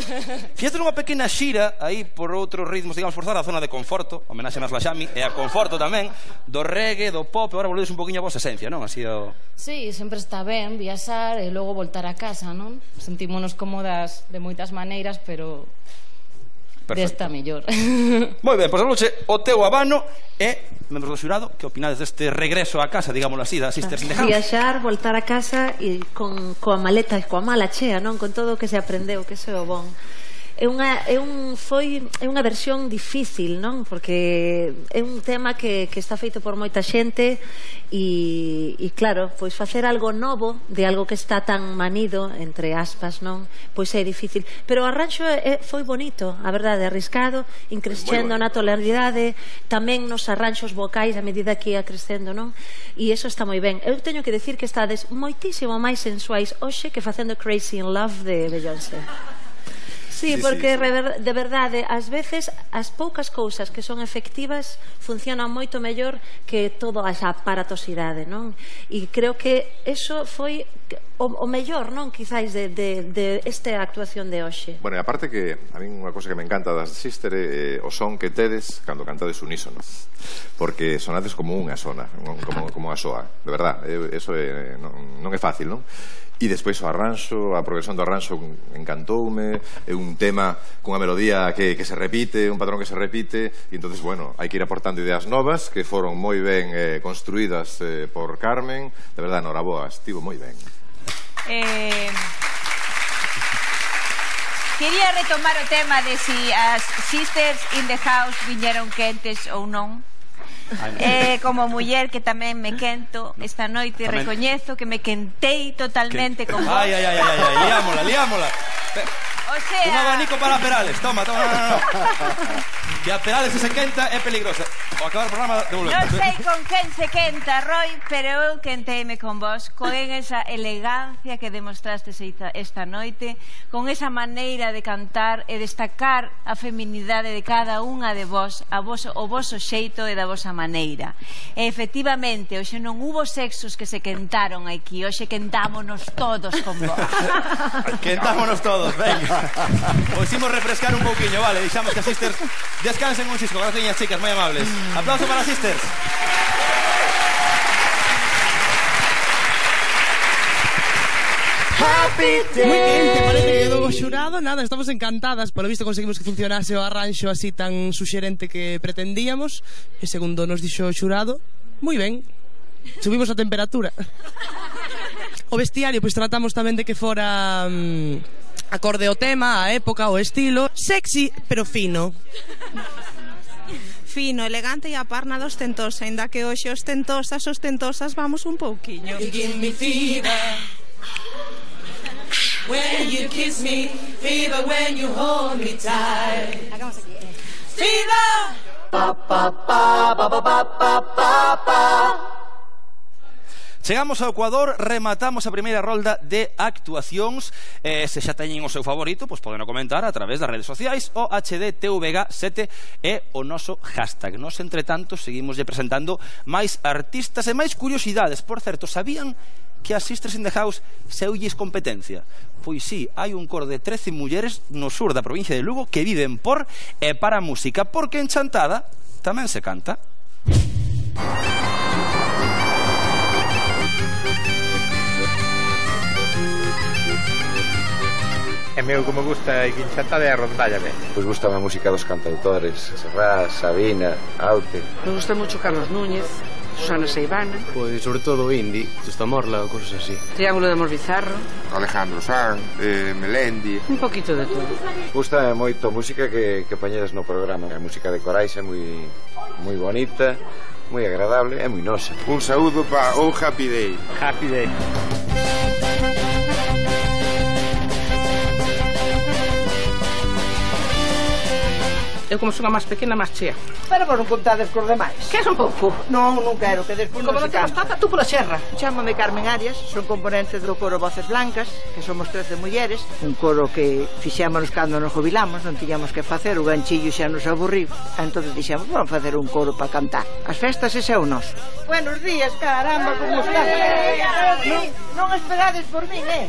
Fíjate unha pequena xira aí por outros ritmos, digamos, forzar a zona de conforto, homenaxe a Slaxami, e a conforto tamén, do reggae, do pop, e agora volvedes un poquinho a vosa esencia, non? Así o... Sí, sempre está ben viaxar e logo voltar a casa, non? Sentímonos cómodas de moitas maneiras, pero desta mellor. Moi ben, pois anoche o teu habano e membros do xurado, que opinades deste regreso a casa, digámoslo así, da Sisters in the House? Viaxar, voltar a casa e con coa maleta e coa mala chea, non? Con todo o que se aprendeu, que se o bon. É unha, é un, foi, é unha versión difícil, non? Porque é un tema que, que está feito por moita xente e, e claro, pois facer algo novo de algo que está tan manido, entre aspas, non? Pois é difícil, pero o arranxo é, foi bonito, a verdade, arriscado, increscendo na tonalidade, tamén nos arranxos vocais a medida que ia crescendo, non? E iso está moi ben. Eu teño que decir que estades moitísimo máis sensuais hoxe que facendo Crazy in Love de Beyoncé. Sí, porque de verdade, ás veces as poucas cousas que son efectivas funcionan moito mellor que toda esa aparatosidade, non? E creo que eso foi o, o mellor, non? Quizáis de, de, de esta actuación de hoxe. Bueno, e aparte que a mí unha cosa que me encanta das Sister é eh, o son que tedes cando cantades unísono, porque sonades como unha sona, como, como unha soa, de verdad, eso é, non, non é fácil, non? E despois o arranxo, a progresión do arranxo encantoume, é un tema cunha melodía que, que se repite, un patrón que se repite, e entonces, bueno, hai que ir aportando ideas novas que foron moi ben eh, construídas eh, por Carmen, de verdade, noraboa, estivo moi ben. Eh... Quería retomar o tema de si as Sisters in the House viñeron quentes ou non. Eh, como muller que tamén me quento esta noite, tamén... recoñezo que me quentei totalmente con vos. Ai, ai, ai, ai, ai, liámola, liámola. O sea... Un abanico para Perales, toma, toma, no, no, no. Que a Perales se quenta é peligrosa. O acabar o programa devolvemos. Non sei con quen se quenta, Roy, pero eu quenteime con vos, con esa elegancia que demostrastes esta noite, con esa maneira de cantar e destacar a feminidade de cada unha de vos, a vos, o voso xeito e da vosa maneira. E efectivamente, hoxe non hubo sexos que se quentaron aquí, hoxe quentámonos todos con vos. Quentámonos todos, venga. Pois imos refrescar un pouquiño, vale, deixamos que as Sisters descansen un xisco. Gracias, niñas chicas, moi amables. Aplauso para as Sisters. happy Moi quente, parece que day. quedou o xurado. Nada, estamos encantadas. Por lo visto conseguimos que funcionase o arranxo así tan suxerente que pretendíamos. E segundo nos dixo o xurado, moi ben, subimos a temperatura. O vestiario, pois tratamos tamén de que fora mm, acorde ao tema, a época, o estilo. Sexy, pero fino. Fino, elegante e a par nada ostentosa, ainda que hoxe ostentosas, ostentosas vamos un pouquiño. You give me fever when you kiss me, fever when you hold me tight. Fever. Pa pa pa pa pa pa pa pa. Chegamos ao Ecuador, rematamos a primeira rolda de actuacións. eh, Se xa teñen o seu favorito, pois poden comentar a través das redes sociais. O H D T V G sete é o noso hashtag. Nos, entre tanto, seguimos presentando máis artistas e máis curiosidades. Por certo, sabían que as Sisters in the House seulles competencia? Pois sí, hai un coro de trece mulleres no sur da provincia de Lugo que viven por e para a música, porque en Chantada tamén se canta. E meu como gusta aquí en Chantada é a rondalla, ben. Pois gusta a música dos cantautores, Serrat, Sabina, Aute. Me gusta mucho Carlos Núñez, Susana Seivana. Pois sobre todo o indie, Justa Morla ou cosas así. Triángulo de Amor Bizarro. Alejandro Sanz, eh, Melendi. Un poquito de todo. Gusta moito a música que, que poñedes no programa. A música de Corais é moi, moi bonita, moi agradable e moi nosa. Un saúdo para o Happy Day. Happy Day. Eu como son a máis pequena, máis chea. Pero vos non contades cos demais. Que son pouco? Non, non quero, que despois Como non non se temos canta. tata, tú pola xerra. Chámame Carmen Arias, son componente do coro Voces Blancas, que somos trece mulleres, un coro que fixémonos cando nos jubilamos, non tiñamos que facer, o ganchillo xa nos aburriu, entón dixemos, vamos facer un coro para cantar. As festas ese é o noso. Buenos días, caramba, como estás? Non, non esperades por min, eh?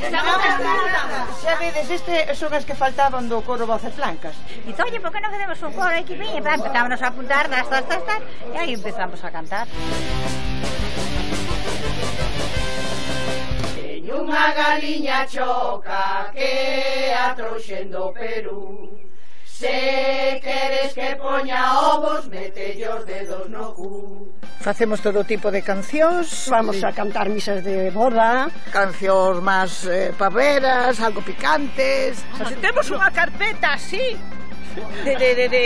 Xa vedes, este son as que faltaban do coro Voces Blancas. Dice, oye, por que non facemos un coro aquí? Empezámonos a apuntar, tas, tas, tas, tas, e aí empezamos a cantar. Teño unha galiña choca que a trouxen do Perú. Se queres que poña ovos, metelle os dedos no cu. Facemos todo tipo de cancións, vamos a cantar misas de boda, cancións máis eh, paveras, algo picantes. Se temos unha carpeta así de, de, de, de,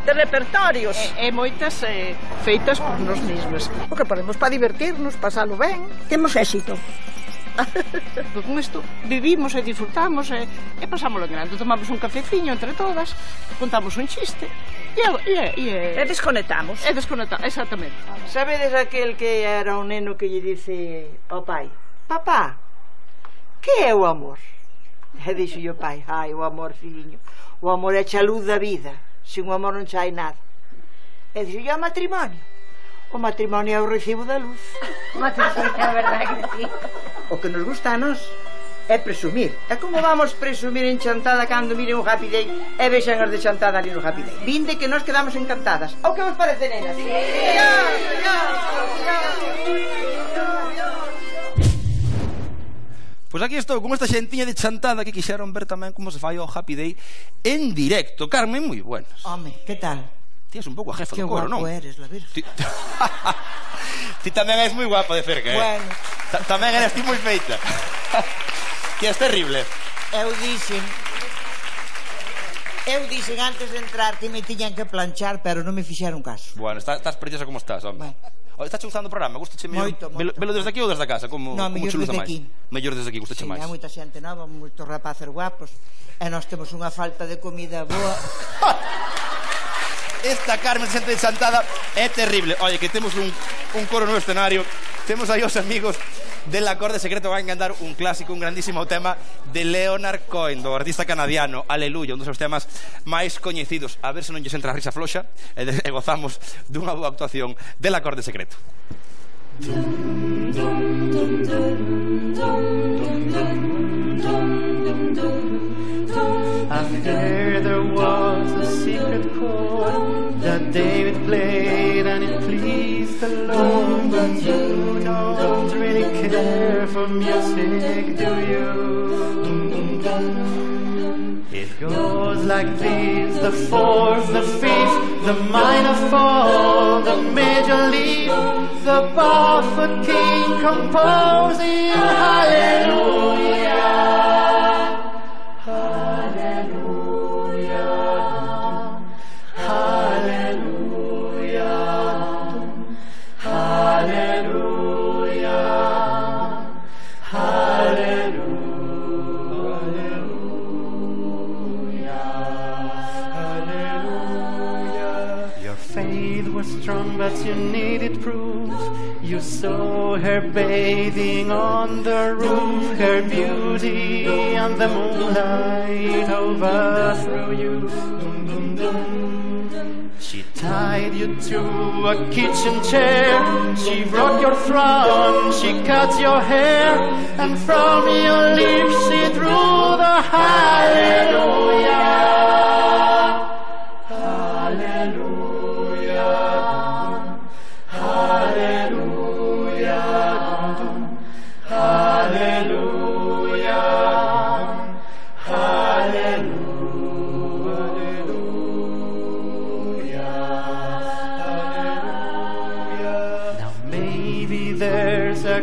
de repertorios e, e moitas eh, feitas por nós mesmos. O que podemos para divertirnos, pasalo ben. Temos éxito. Pues con isto vivimos e disfrutamos e, e pasámoslo en grande. Tomamos un cafeciño entre todas, contamos un chiste e, e, e, e desconectamos. E desconectamos, exactamente. Sabedes aquel que era un neno que lle dice ao pai: papá, que é o amor? E dixo o pai: ai, o amor, filliño, o amor é a luz da vida, sin o amor non chai nada. E dixo: e o matrimonio? O matrimonio é o recibo da luz. Matrimonio, é verdade que sí. O que nos gusta a nós é presumir. É como vamos presumir en Chantada cando miren o Happy Day e vexan as de Chantada ali no Happy Day. Vinde que nos quedamos encantadas. O que vos parece, nenas? Sí. Pois aquí estou con esta xentiña de Chantada que quixeron ver tamén como se fai o Happy Day en directo. Carmen, moi buenas. Home, que tal? Ti és un pouco a jefa que do coro, non? Que guapo eres, la virgen. Ti, ti tamén és moi guapa de cerca, eh? Bueno. Ta tamén eres ti moi feita. Ti és terrible. Eu dixen Eu dixen antes de entrar que me tiñan que planchar, pero non me fixeron caso. Bueno, estás, estás preciosa como estás, home. Bueno. Estás gustando o programa? Gustache mellor? Moito, moito. Velo, velo desde aquí ou desde a casa? Como, no, como mellor desde máis? aquí. Mellor desde aquí, gustache sí, máis? Hai moita xente nova, moitos rapaces guapos, e nós temos unha falta de comida boa. Esta Carmen xente de Chantada é terrible. Oye, que temos un, un coro no escenario. Temos aí os amigos del Acorde Secreto. Van a cantar un clásico, un grandísimo tema de Leonard Cohen, do artista canadiano, Aleluya, un dos seus temas máis coñecidos. A ver se non lles entra a risa floxa e, de, e gozamos dunha boa actuación del Acorde Secreto. I heard there was a secret chord that David played and it pleased the Lord. But you don't really care for music, do you? It goes like this: the fourth, the fifth, the minor fall, the major lead, the Barfoot King composing hallelujah. Strong, but you needed proof. You saw her bathing on the roof, her beauty and the moonlight overthrew you. She tied you to a kitchen chair, she broke your throne, she cut your hair, and from your lips she drew the hallelujah.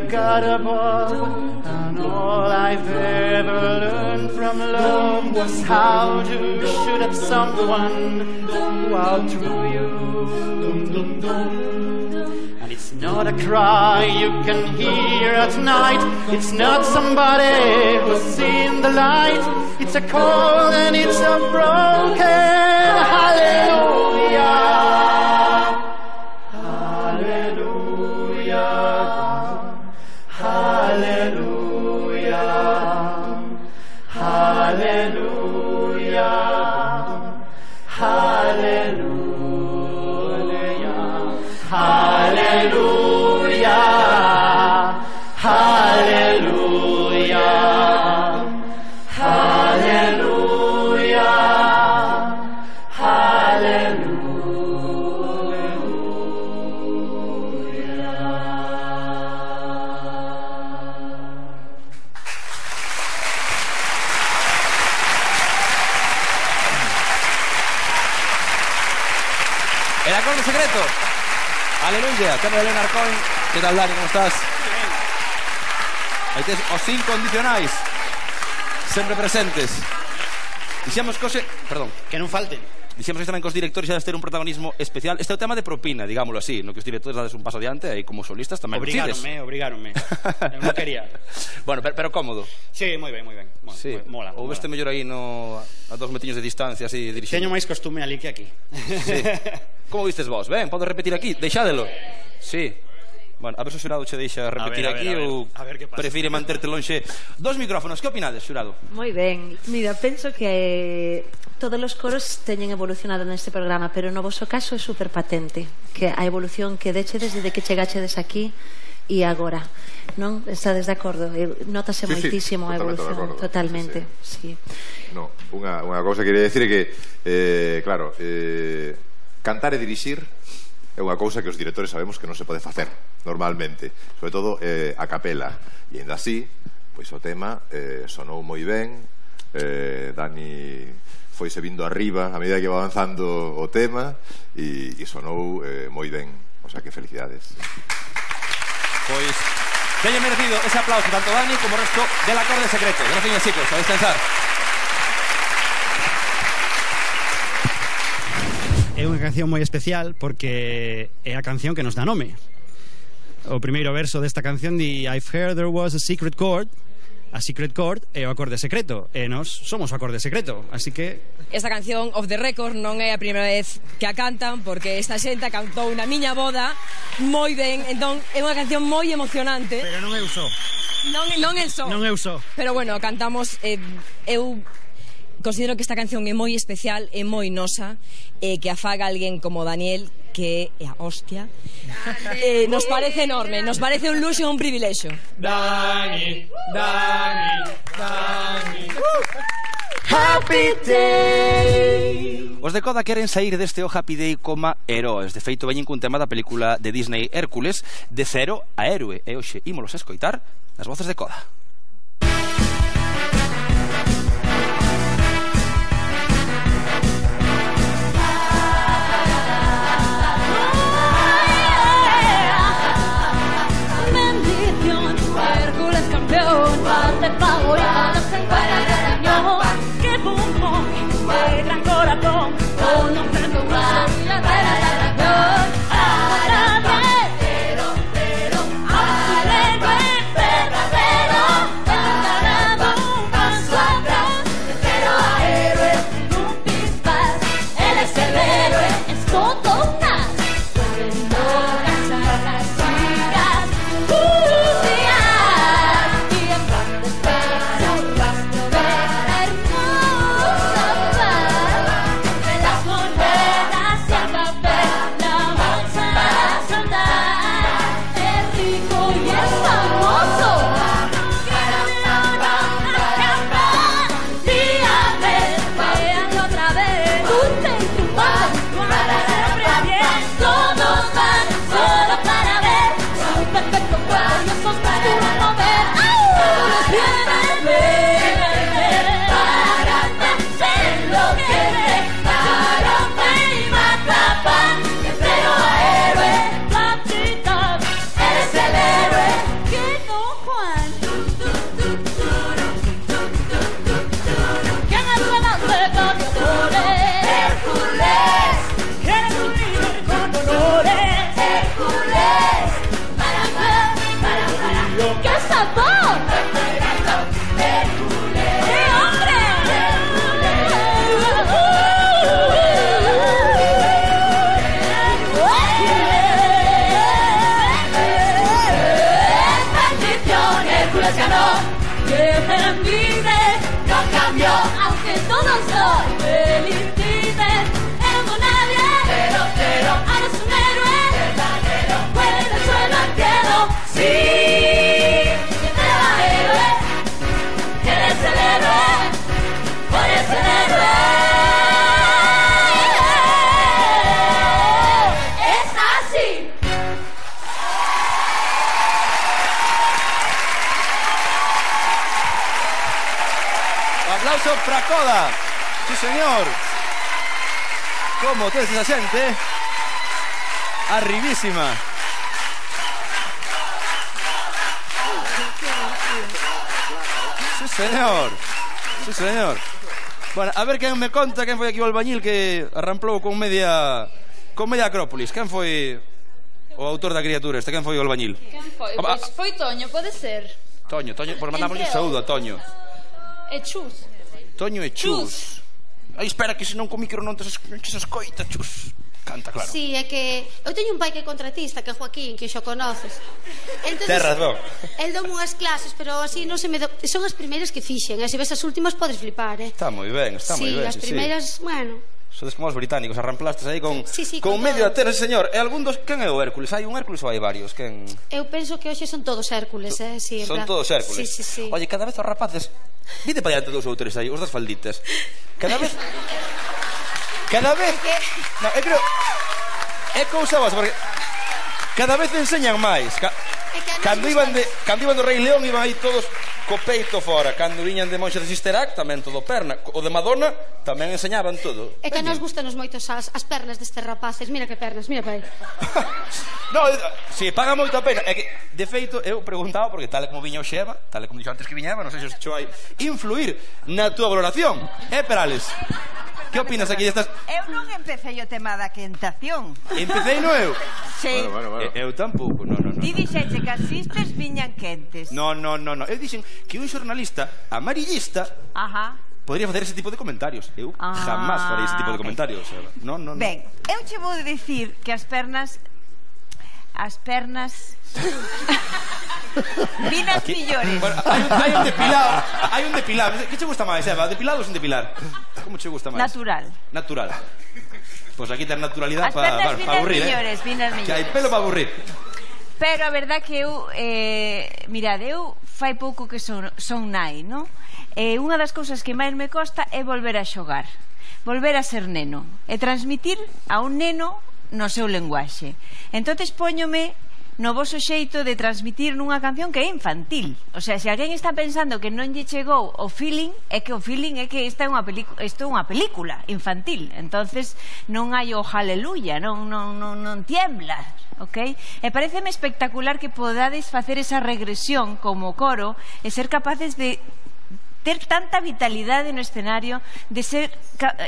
God above, and all I've ever learned from love was how to shoot at someone who outdrew you. And it's not a cry you can hear at night, it's not somebody who's seen the light, it's a call and it's a broken hallelujah. El acorde secreto. Aleluya. Tema de Leonard Cohen. ¿Qué tal, Dani? ¿Cómo estás? Aí tes os incondicionais. Sempre presentes. Dixemos cose... Perdón. Que non falten. Dixemos que tamén cos directores xa debes ter un protagonismo especial. Este é o tema de propina, digámoslo así, no que os directores dades un paso adiante e como solistas tamén obrigáronme, obrigáronme. Eu non quería. Bueno, pero, pero cómodo. Sí, moi ben, moi ben. Bueno, sí. Mola. Ou veste mellor aí no a dos metiños de distancia así dirixindo. Teño máis costume ali que aquí. Sí. Como vistes vos? Ben, podo repetir aquí? Deixádelo. Sí. Bueno, a ver se o xurado che deixa repetir a ver, aquí a ver, ou a ver prefire manterte lonxe. Dos micrófonos, que opinades, xurado? Moi ben. Mira, penso que todos os coros teñen evolucionado neste programa, pero no voso caso é super patente que a evolución que dechedes desde que chegachedes aquí e agora, non? Estades de acordo? Notase sí, moitísimo sí, a evolución, totalmente, sí, sí. No, unha, unha cousa que quería decir é que eh, claro, eh, cantar e dirixir é unha cousa que os directores sabemos que non se pode facer normalmente, sobre todo eh, a capela, e ainda así pois o tema eh, sonou moi ben. eh, Dani foise vindo arriba a medida que va avanzando o tema e, e sonou eh, moi ben, o sea que felicidades. Pois teñen merecido ese aplauso tanto Dani como o resto del acorde secreto. Gracias, chicos, a descansar. É unha canción moi especial porque é a canción que nos dá nome. O primeiro verso desta canción di I've heard there was a secret chord. A secret chord é o acorde secreto e nós somos o acorde secreto, así que esta canción Off the Record non é a primeira vez que a cantan, porque esta xente cantou na miña boda moi ben, entón é unha canción moi emocionante. Pero non eu só. Non, non eu só. Non eu só. Pero bueno, cantamos eh, eu considero que esta canción é moi especial, é moi nosa, e eh, que a faga alguén como Daniel, que é a hostia, eh, nos parece enorme, nos parece un luxo e un privilexio. Dani, Dani, Dani. Happy Day. Os de Coda queren sair deste o Happy Day coma heróes. De feito, veñen cun tema da película de Disney Hércules, de cero a héroe. E hoxe ímolos a escoitar nas voces de Coda. Bendición, Hércules campeón, parte favorita, no se encuentra de cañón. Que pum pum, de gran corazón, con un frente humano y la cara de dragón. Ahora verdadero, pero al héroe verdadero, dando un paso atrás, de cero a héroe, un pispás. Él es el héroe, es todo un as, pudiendo cazar las chicas, uh, días, y en plan de pecho, rastro de hermosa paz, entre las monedas y el papel, la bolsa a soldar, es rico y es famoso. Dígame, otra vez, dulce y triunfante, para siempre bien, todos van solo para ver su perfecto cuadro, esos músculos mover. Todos vienen, vienen para enloquecer, para y matar, de cero a héroe, platita, eres el héroe, que no Juan. ¿Quién es el hombre con honores? Hércules. ¿Quién es un líder con honores? Hércules. Para para para para. ¡Qué sabor! Hércules. ¡Qué hombre! Bendición, Hércules ganó. Que me envidia, no cambió, aunque todos soy felicidad. Amo nadie, pero pero eres un héroe verdadero. Vuela del suelo al cielo, sí. Que te va héroe, eres el héroe, eres el héroe. Es así. Aplauso para Coda. Sí, señor. Como tes esa xente? Arribísima. Sí, señor. Sí, señor. Bueno, a ver quen me conta quen foi aquí o albañil que arramplou con media con media Acrópolis. Quen foi o autor da criatura este? Quen foi o albañil? Quen foi? Ah, Pois foi Toño, pode ser. Toño, Toño, por mandamos un Entre saúdo a Toño. E Chus. Toño e Chus. Ai, espera que senón co micro non te se escoita, Chus. Canta, claro. Sí, é que eu teño un pai que é contratista, que é Joaquín, que xo conoces. Entonces, Tes razón. El dou unhas clases, pero así non se me do... Son as primeiras que fixen, e se ves as últimas podes flipar, eh? Está moi ben, está sí, moi ben. as Sí, primeiras, sí. bueno... Sodes como os británicos, arramplastes aí con, Sí, sí, con con medio todo. a ter, señor. E algún dos... Quen é o Hércules? Hai un Hércules ou hai varios? Quen... Eu penso que hoxe son todos Hércules, eh? Sí, en Son plan... todos Hércules. Sí, sí, sí. Oye, cada vez os rapaces... Vide para diante dos ou tres aí, os das falditas. Cada vez... Cada vez... No, eu creo... É cousa vos, porque... Cada vez enseñan máis. Ca... Cando iban de cando iban do Rei León iban aí todos co peito fora. Cando viñan de Monxa de Sister Act tamén todo perna. O de Madonna tamén enseñaban todo. É que nos gustan os moitos as, as pernas destes rapaces. Mira que pernas, mira pai. No, si, paga moita pena. É que, de feito, eu preguntaba, porque tal como viña o Xeva, tal como dixo antes que viñaba, non sei se os xo hai influir na túa valoración. Eh, Perales? Que opinas aquí destas? Eu non empecé o tema da quentación. Empecei no eu? Sí. Bueno, bueno, bueno. Eu tampouco, non, non, non. Ti dixeche que as sisters viñan quentes. No, no, no, no. Eu dixen que un xornalista amarillista Ajá. podría facer ese tipo de comentarios. Eu Ah, jamás farei ese tipo de ok. comentarios. No, no, no. Ben, eu che vou dicir que as pernas as pernas vinas Aquí- millores. Bueno, hai, un, hai un depilado, hai un depilado. Que che gusta máis, Eva? Depilado ou sin depilar? Como che gusta máis? Natural. Natural. Pois pues aquí ten naturalidade As para pernas pa, vinas pa aburrir, millores, eh? vinas Que hai millores. pelo para aburrir. Pero a verdad que eu eh, mirad, eu fai pouco que son, son nai, non? E unha das cousas que máis me costa é volver a xogar, volver a ser neno e transmitir a un neno no seu lenguaxe. Entonces póñome no voso xeito de transmitir nunha canción que é infantil. O sea, se alguén está pensando que non lle chegou o feeling, é que o feeling é que esta é unha película, isto é unha película infantil. Entonces non hai o aleluya, non non non non tiembla, ok? E paréceme espectacular que podades facer esa regresión como coro e ser capaces de ter tanta vitalidade no escenario, de ser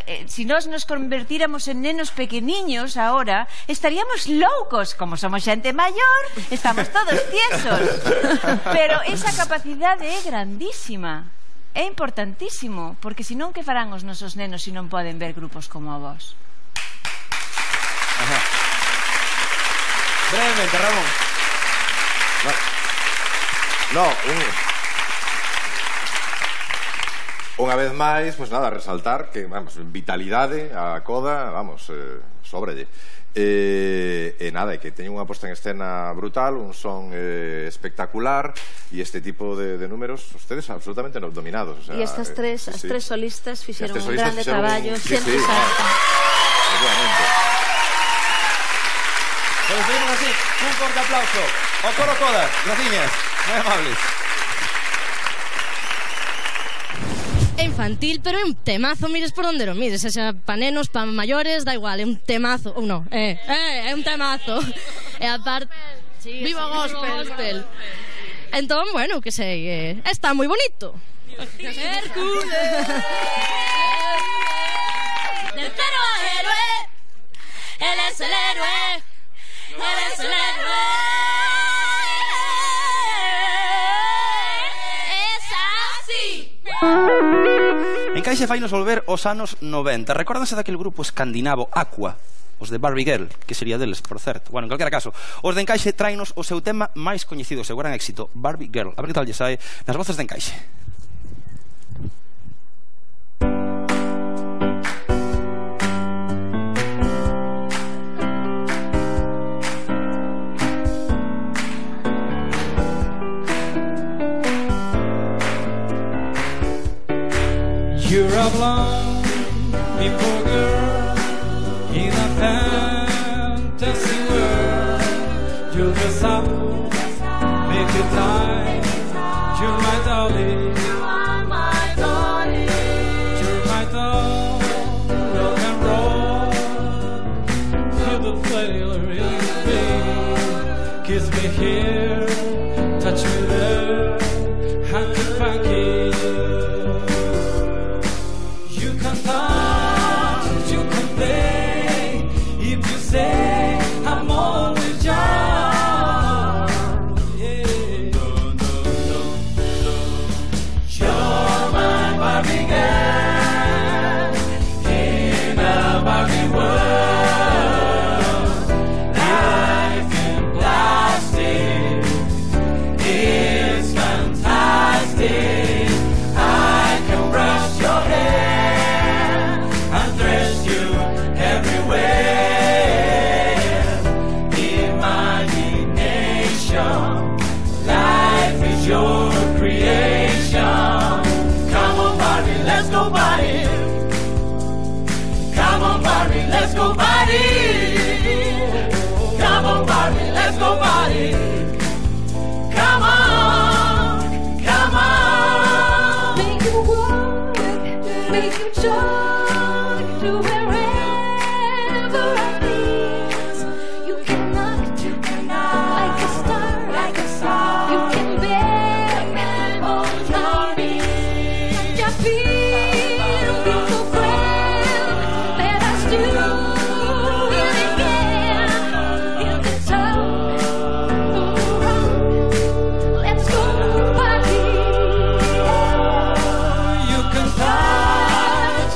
eh, si nós nos convertíramos en nenos pequeniños ahora, estaríamos loucos. Como somos xente maior, estamos todos tiesos, pero esa capacidade é grandísima, é importantísimo, porque senón que farán os nosos nenos se non poden ver grupos como a vos? Ajá. Brevemente, Ramón. No, un... Unha vez máis, pois nada, resaltar que, vamos, vitalidade, a coda, vamos, eh, sóbrelle. E, e nada, e que teñen unha posta en escena brutal, un son eh, espectacular, e este tipo de, de números, ustedes absolutamente no, dominados. O sea, e estas tres, eh, as sí, tres solistas fixeron un solistas grande fixeron traballo, un... sempre sí, sí, salta. Obviamente. Pues pedimos así, un corte aplauso. O coro todas, graciñas, moi amables. É infantil, pero é un temazo, mires por onde lo mires, xa pa nenos, pa maiores, da igual, é un temazo, ou non, é, é, é un temazo. E aparte, sí, viva o gospel. gospel. Entón, bueno, que sei, eh, está moi bonito. Hércules. Del cero al héroe, él es el héroe, él es el héroe. Es así. Encaixe fainos volver aos anos noventa. Recórdanse daquele grupo escandinavo Aqua, os de Barbie Girl, que sería deles, por certo. Bueno, en calquera caso, os de Encaixe trainos o seu tema máis coñecido, o seu gran éxito, Barbie Girl. A ver que tal lle sae nas voces de Encaixe. You're a blonde beautiful girl in a fantasy world. You're the sun, make it time. You're my darling. You are my darling. You're my doll, rock and roll. You're the flavor in me. Kiss me here, touch me there, hanky panky. You can play if you say I'm always young. Yeah. You're my Barbie girl in a Barbie world. Life in plastic is fantastic. I can brush your hair. Your creation. Come on, Barbie, let's go party. Come on, Barbie, let's go party. Come on, Barbie, let's go party. Come on, come on. Make you walk, make you talk to wherever I please. You can knock, you can knock like a star, like a star. You can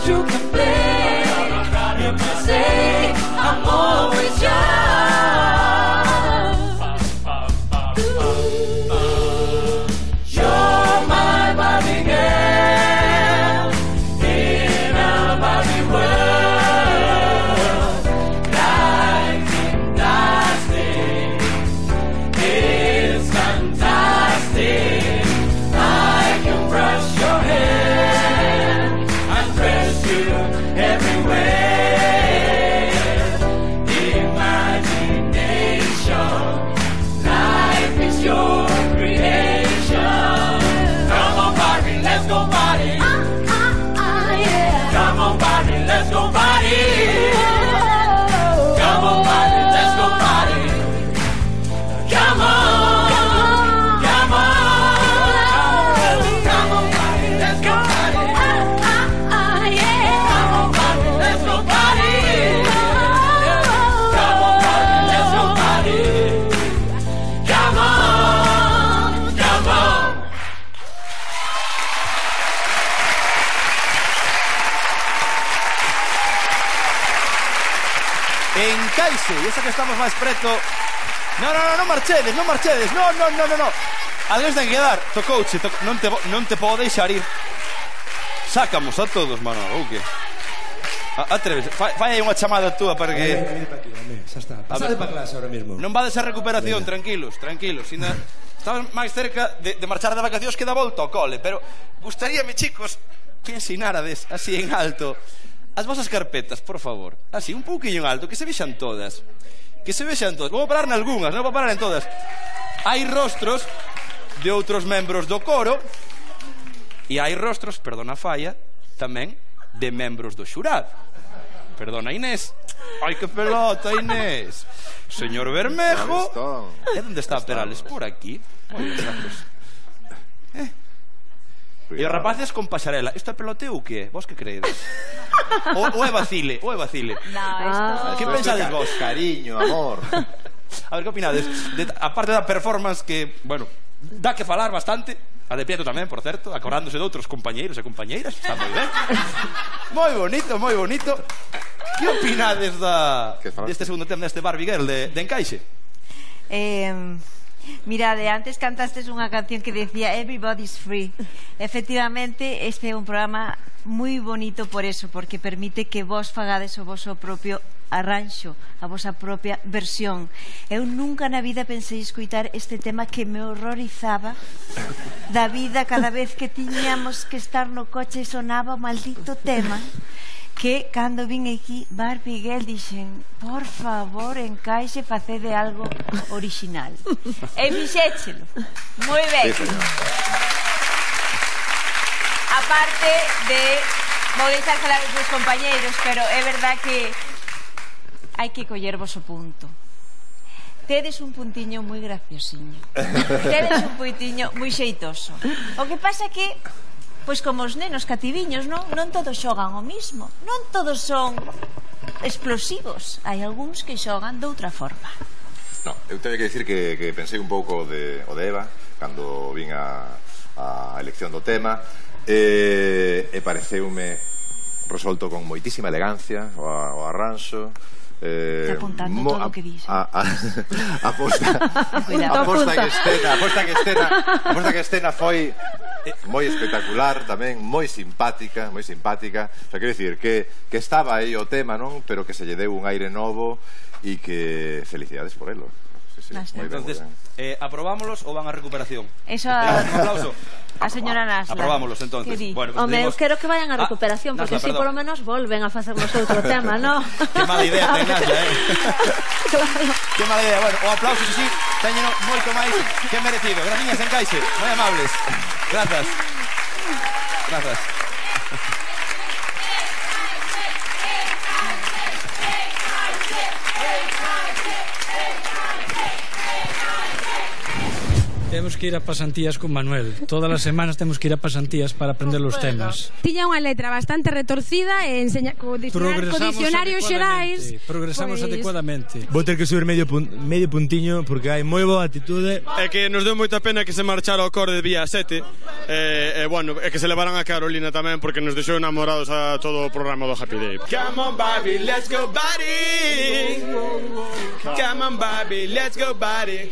You Sí, esa que estamos máis preto. No, no, no, non marchedes, non marchedes. No, no, no, no, no. Alguén ten que dar. Tocouche, to... non te non te podo deixar ir. Sácamos a todos, Manolo, ou que? Atreves, fai aí unha chamada túa para que... Vete pa aquí, home, xa está. Pasade pa clase ahora mismo. Non vades a recuperación, tranquilos, tranquilos. Estamos máis cerca de, de marchar de vacacións que da volta ao cole, pero gustaríame, chicos, que ensinárades así en alto as vosas carpetas, por favor. Así, un pouquinho en alto, que se vexan todas. Que se vexan todas. Vou parar nalgúnas, non vou parar en todas. Hai rostros de outros membros do coro e hai rostros, perdona a falla, tamén de membros do xurado. Perdona, Inés. Ai, que pelota, Inés. Señor Bermejo. E onde está Perales? Por aquí. Moi gracias. Eh? E os rapaces con pasarela. Isto é peloteo ou que? Vos que creedes? O, o é vacile, o é vacile. No, esto... Que pensades vos? Cariño, amor. A ver, que opinades? De, a parte da performance que, bueno, dá que falar bastante. A de Pietro tamén, por certo, acordándose de outros compañeiros e compañeiras. Está moi ben. Moi bonito, moi bonito. Que opinades da, deste segundo tema deste Barbie Girl de, de Encaixe? Eh... Mirade, antes cantastes unha canción que decía Everybody's Free. Efectivamente, este é un programa moi bonito por eso, porque permite que vos fagades o voso propio arranxo, a vosa propia versión. Eu nunca na vida pensei escoitar este tema que me horrorizaba da vida cada vez que tiñamos que estar no coche e sonaba o maldito tema, que cando vin aquí Barbie Girl dixen, por favor, Encaixe, facede algo original. E fixéchelo moi ben. A parte de, vou deixar falar os meus compañeiros, pero é verdad que hai que collervos o punto. Tedes un puntiño moi graciosiño, tedes un puntiño moi xeitoso. O que pasa que, pois como os nenos cativiños, non, non todos xogan o mismo, non todos son explosivos, hai algúns que xogan de outra forma. No, eu teño que dicir que, que pensei un pouco de, o de Eva cando vin a, a elección do tema e, e pareceume resolto con moitísima elegancia o, o arranxo. Eh, apuntando mo, todo o que dixo. A, a, a, a posta a posta que escena a posta que escena a posta que escena foi moi espectacular tamén, moi simpática moi simpática, o sea, quero dicir que, que estaba aí o tema, non? Pero que se lle deu un aire novo e que felicidades por elo. Sí, sí, moi ben, entonces, eh, aprobámolos ou van a recuperación? Eso a... Un aplauso. A señora Nasla. Aprobámoslos, entonces. Bueno, pues Home, eu quero que vayan a recuperación, ah, porque así polo menos volven a facernos outro tema, ¿no? Que mala idea ten Nasla, eh? Claro. Que mala idea. Bueno, o aplauso, sí, sí, teñeno moito máis que merecido. Graciñas, Encaixe, moi amables. Grazas. Grazas. Temos que ir a pasantías con Manuel. Todas as semanas temos que ir a pasantías para aprender os temas. Tiña unha letra bastante retorcida e enseña co dicionarios xerais. Progresamos pois... adecuadamente. Vou ter que subir medio, pun medio puntiño porque hai moi boa actitude. É que nos deu moita pena que se marchara o coro de Vía sete. E, e bueno, é que se levaran a Carolina tamén porque nos deixou enamorados a todo o programa do Happy Day. Come on Barbie, let's go Barbie. Come on Barbie, let's go Barbie.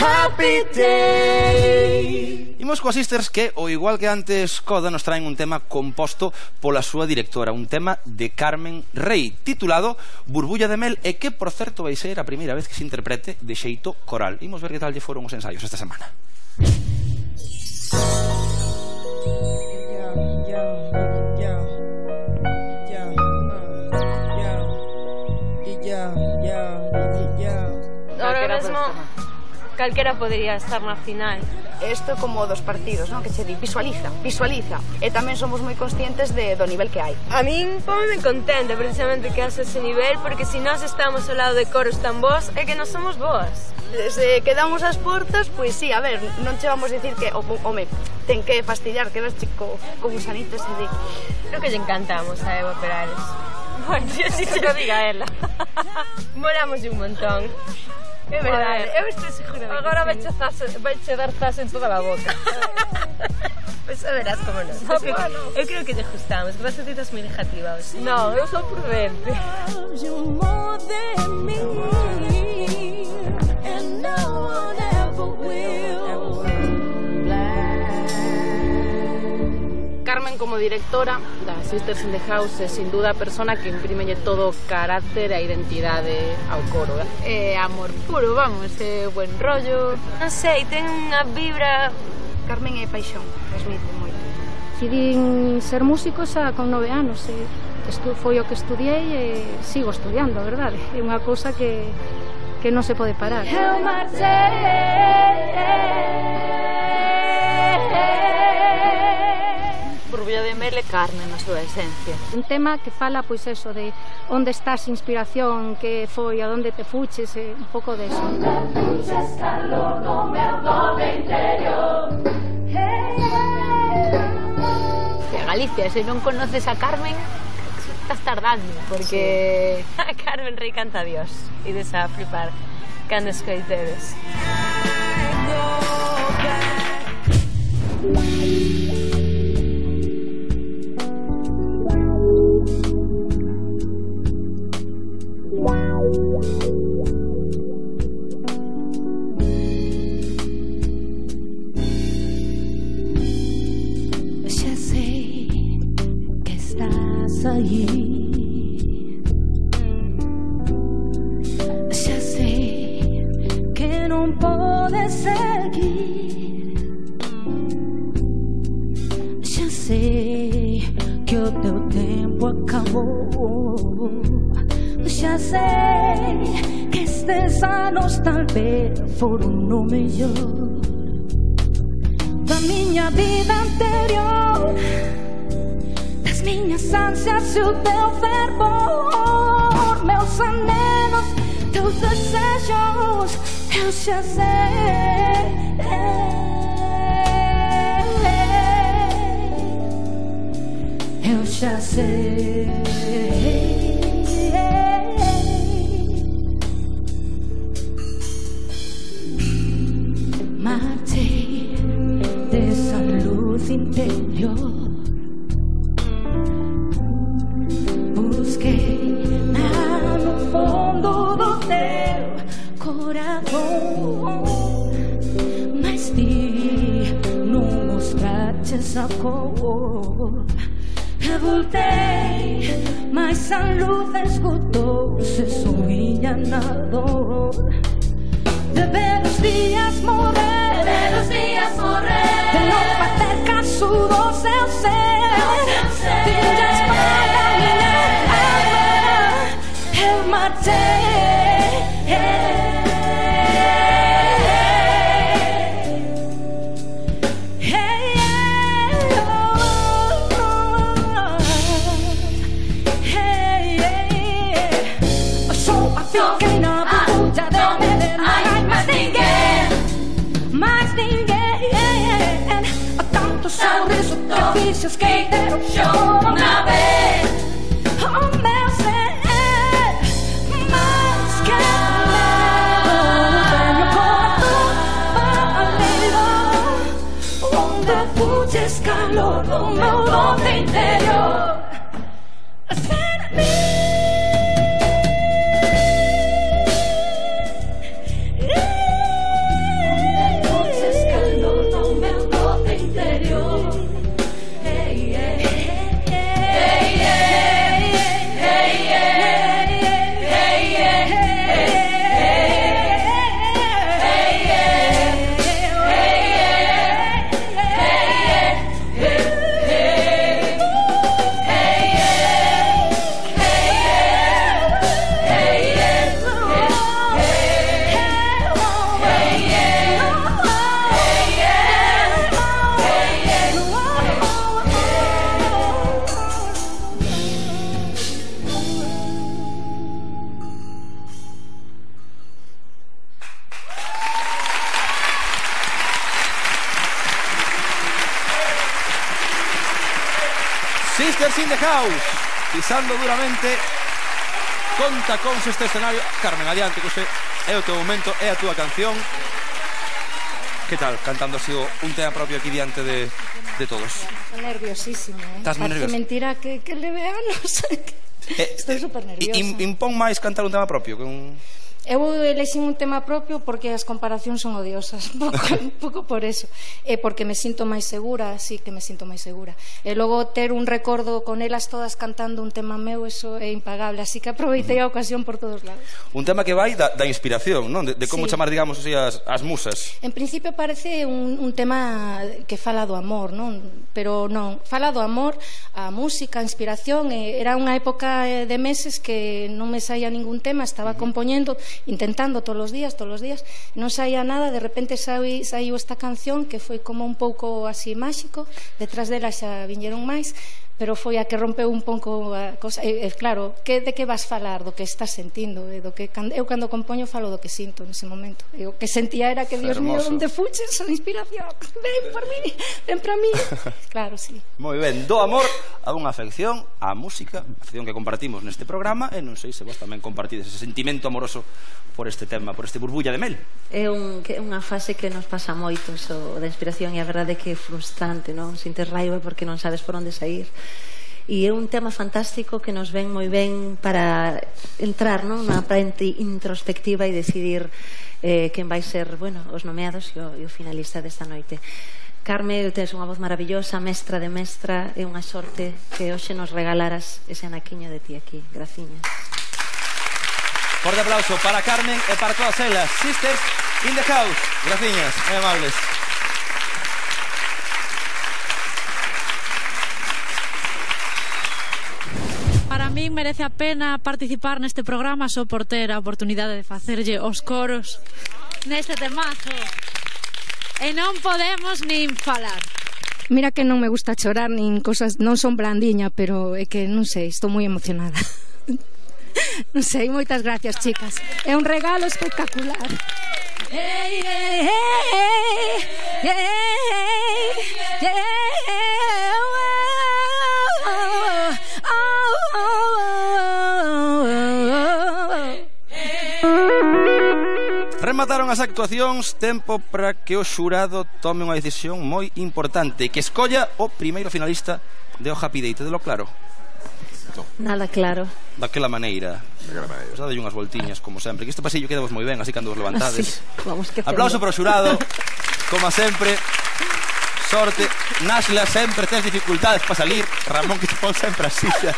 Happy Day. Imos coas sisters que, ao igual que antes Coda, nos traen un tema composto pola súa directora, un tema de Carmen Rey, titulado Burbulla de Mel, e que, por certo, vai ser a primeira vez que se interprete de xeito coral. Imos ver que tal lle foron os ensaios esta semana. Ahora mesmo calquera podría estar na final. Isto como dos partidos, non? Que che di, visualiza, visualiza. E tamén somos moi conscientes de, do nivel que hai. A min pómeme contenta precisamente que hace ese nivel, porque se nós estamos ao lado de coros tan bons, é que non somos boas. Se quedamos as portas, pois sí, a ver, non che vamos dicir que, o, home, ten que fastidiar, que ves chico con gusanitos e di... Creo que lle encantamos a Eva Perales. Bueno, si se lo diga ela. Molamos un montón. É verdade, eu estou segura de Agora vai che dar zas en toda a boca. Pois a verás como non. Eu, bueno. eu creo que te gustamos, que vas a ditas moi negativas. Non, eu sou prudente. Carmen, como directora da Sisters in the House, é sin duda a persona que imprímelle todo o carácter e a identidade ao coro. É amor puro, vamos, é buen rollo. Non sei, ten unha vibra... Carmen é paixón, transmite moito. Decidín ser músico xa con nove anos, e estu foi o que estudiei e sigo estudiando, a verdade. É unha cousa que, que non se pode parar. Eu marchei. Rubio de Mel e Carmen na súa esencia. Un tema que fala, pois, eso, de onde estás inspiración, que foi, a onde te fuches, e un pouco de eso. Onde fuches calor no meu doble interior. E a Galicia, se non conoces a Carmen, estás tardando, porque sí. A Carmen Rey canta a Dios, e des a flipar cando escoitedes. Já sei que estás aí. Já sei que não podes seguir. Já sei que o teu tempo acabou. Já sei que estes anos talvez foram o melhor da minha vida anterior, das minhas ânsias e o teu fervor, meus anelos, teus desejos, eu já sei. Eu já sei. Matei dessa luz interior. Busquei lá no fundo do teu coração, mas vi não mostrar-te essa cor. Eu voltei, mas a luz escutou-se sorria na dor. De ver os dias morrer, de ver os dias morrer, de não bater caso do seu ser, filhas para minha alma, eu matei. Eu sou a pequena puta de Belém. Mais ninguém, há tantos sorrisos que fiz que deram show uma vez. Oh meu ser, mais que medo, tenho coração pálido, onde fuges calor do meu doble interior. Sisters in the House. pisando duramente. Conta con este escenario. Carmen, adiante, que ese é o teu momento, é a túa canción. Que tal, cantando así un tema propio aquí diante de, de todos? Estou nerviosísima, eh? Estás moi nerviosa. Parece mentira que, que leve anos. Eh, Estou super nerviosa. In, impón máis cantar un tema propio que un... Eu elexín un tema propio porque as comparacións son odiosas, un pouco, un pouco por eso, e porque me sinto máis segura, sí que me sinto máis segura. E logo ter un recordo con elas todas cantando un tema meu, eso é impagable, así que aproveitei a ocasión por todos lados. Un tema que vai da, da inspiración, non? De, de como Sí. chamar, digamos, así, as, as musas. En principio parece un, un tema que fala do amor, non? Pero non, fala do amor, a música, a inspiración, e era unha época de meses que non me saía ningún tema, estaba compoñendo, intentando todos os días, todos os días, non saía nada, de repente saí, saiu esta canción que foi como un pouco así máxico, detrás dela xa viñeron máis, pero foi a que rompeu un pouco a cosa. E, e claro, que, de que vas falar? Do que estás sentindo, e do que, eu cando compoño falo do que sinto nese momento, e o que sentía era que, Dios mío, onde fuches a inspiración, ven por mí, ven para mí. Claro, sí. Moi ben, do amor a unha afección á música, afección que compartimos neste programa, e non sei se vos tamén compartides ese sentimento amoroso por este tema, por este burbulla de mel. É un, que é unha fase que nos pasa moito, so, da inspiración, e a verdade é que é frustrante, non? Sintes raiva porque non sabes por onde sair. E é un tema fantástico que nos ven moi ben para entrar, non? Unha parte introspectiva e decidir eh, quen vai ser, bueno, os nomeados e o, e o finalista desta noite. Carme, tens unha voz maravillosa, mestra de mestra, é unha sorte que hoxe nos regalaras ese anaquiño de ti aquí. Graciñas. Forte aplauso para Carmen e para todas elas. Sisters in the house. Graciñas, moi amables. Para mí merece a pena participar neste programa só por ter a oportunidade de facerlle os coros neste temazo. E non podemos nin falar. Mira que non me gusta chorar nin cosas, non son blandiña, pero é que non sei, estou moi emocionada. Non sei, moitas gracias, chicas. É un regalo espectacular. Hey, hey, hey, hey, hey, Remataron as actuacións, tempo para que o xurado tome unha decisión moi importante, que escolla o primeiro finalista de O Happy Day. Tedelo claro? Nada claro. Daquela maneira. Daquela maneira. Pues dadelle unhas voltiñas, como sempre. Que este pasillo queda vos moi ben, así cando vos levantades. Sí, vamos que aplauso para o xurado. Como sempre. Sorte. Naxla, sempre tes dificultades para salir. Ramón, que te pon sempre así xa.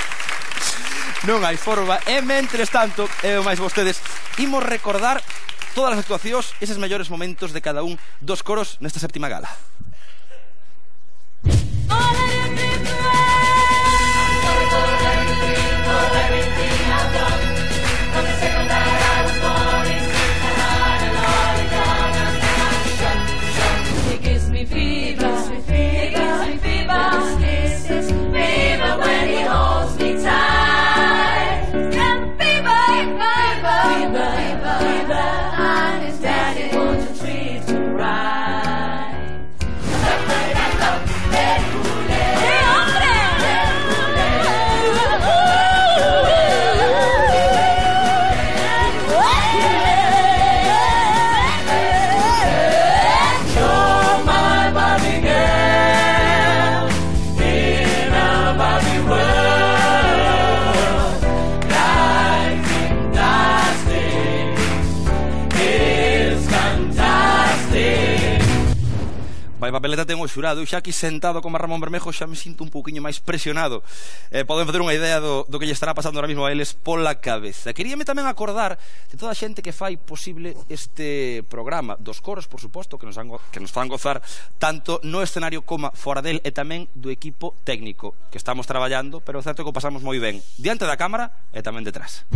Non hai forma. E mentres tanto, e máis vostedes, imos recordar todas as actuacións, eses mellores momentos de cada un dos coros nesta séptima gala. Vai papeleta ten o xurado. Eu xa aquí sentado como Ramón Bermejo xa me sinto un pouquiño máis presionado. eh, Poden facer unha idea do, do que lle estará pasando ahora mismo a eles pola cabeza. Queríame tamén acordar de toda a xente que fai posible este programa, dos coros, por suposto, que nos, han, que nos fan gozar tanto no escenario como fora del, e tamén do equipo técnico que estamos traballando, pero é certo que o pasamos moi ben diante da cámara e tamén detrás.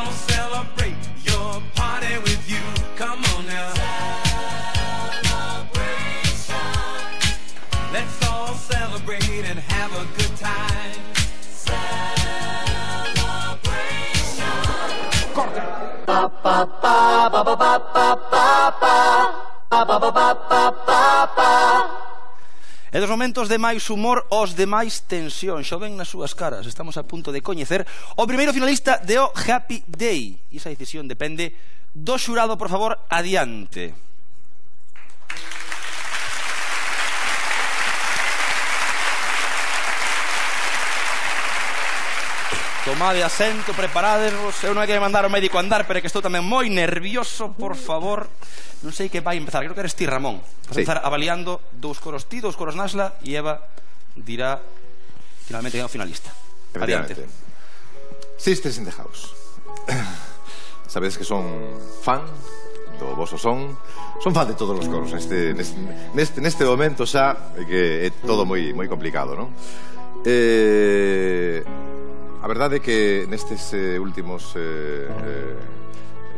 gonna celebrate your party with you. Come on now. Celebration. Let's all celebrate and have a good time. Celebration. Corte. Pa pa pa pa pa pa pa pa pa pa pa pa pa pa. E dos momentos de máis humor os de máis tensión. Xo ven nas súas caras. Estamos a punto de coñecer o primeiro finalista de O Happy Day. E esa decisión depende do xurado. Por favor, adiante. Tomade asento, preparadevos. Eu non hai que mandar ao médico a andar, pero é que estou tamén moi nervioso. Por favor, non sei que vai empezar. Creo que eres ti, Ramón. Vas sí. a empezar avaliando dous coros ti, dous coros Nasla, e Eva dirá finalmente que é o finalista. Adiante. Sisters in the House. Sabedes que son fan do voso son. Son fan de todos os coros neste, neste, neste momento xa, que é todo moi, moi complicado, non? Eh... A verdade é que nestes eh, últimos eh, eh,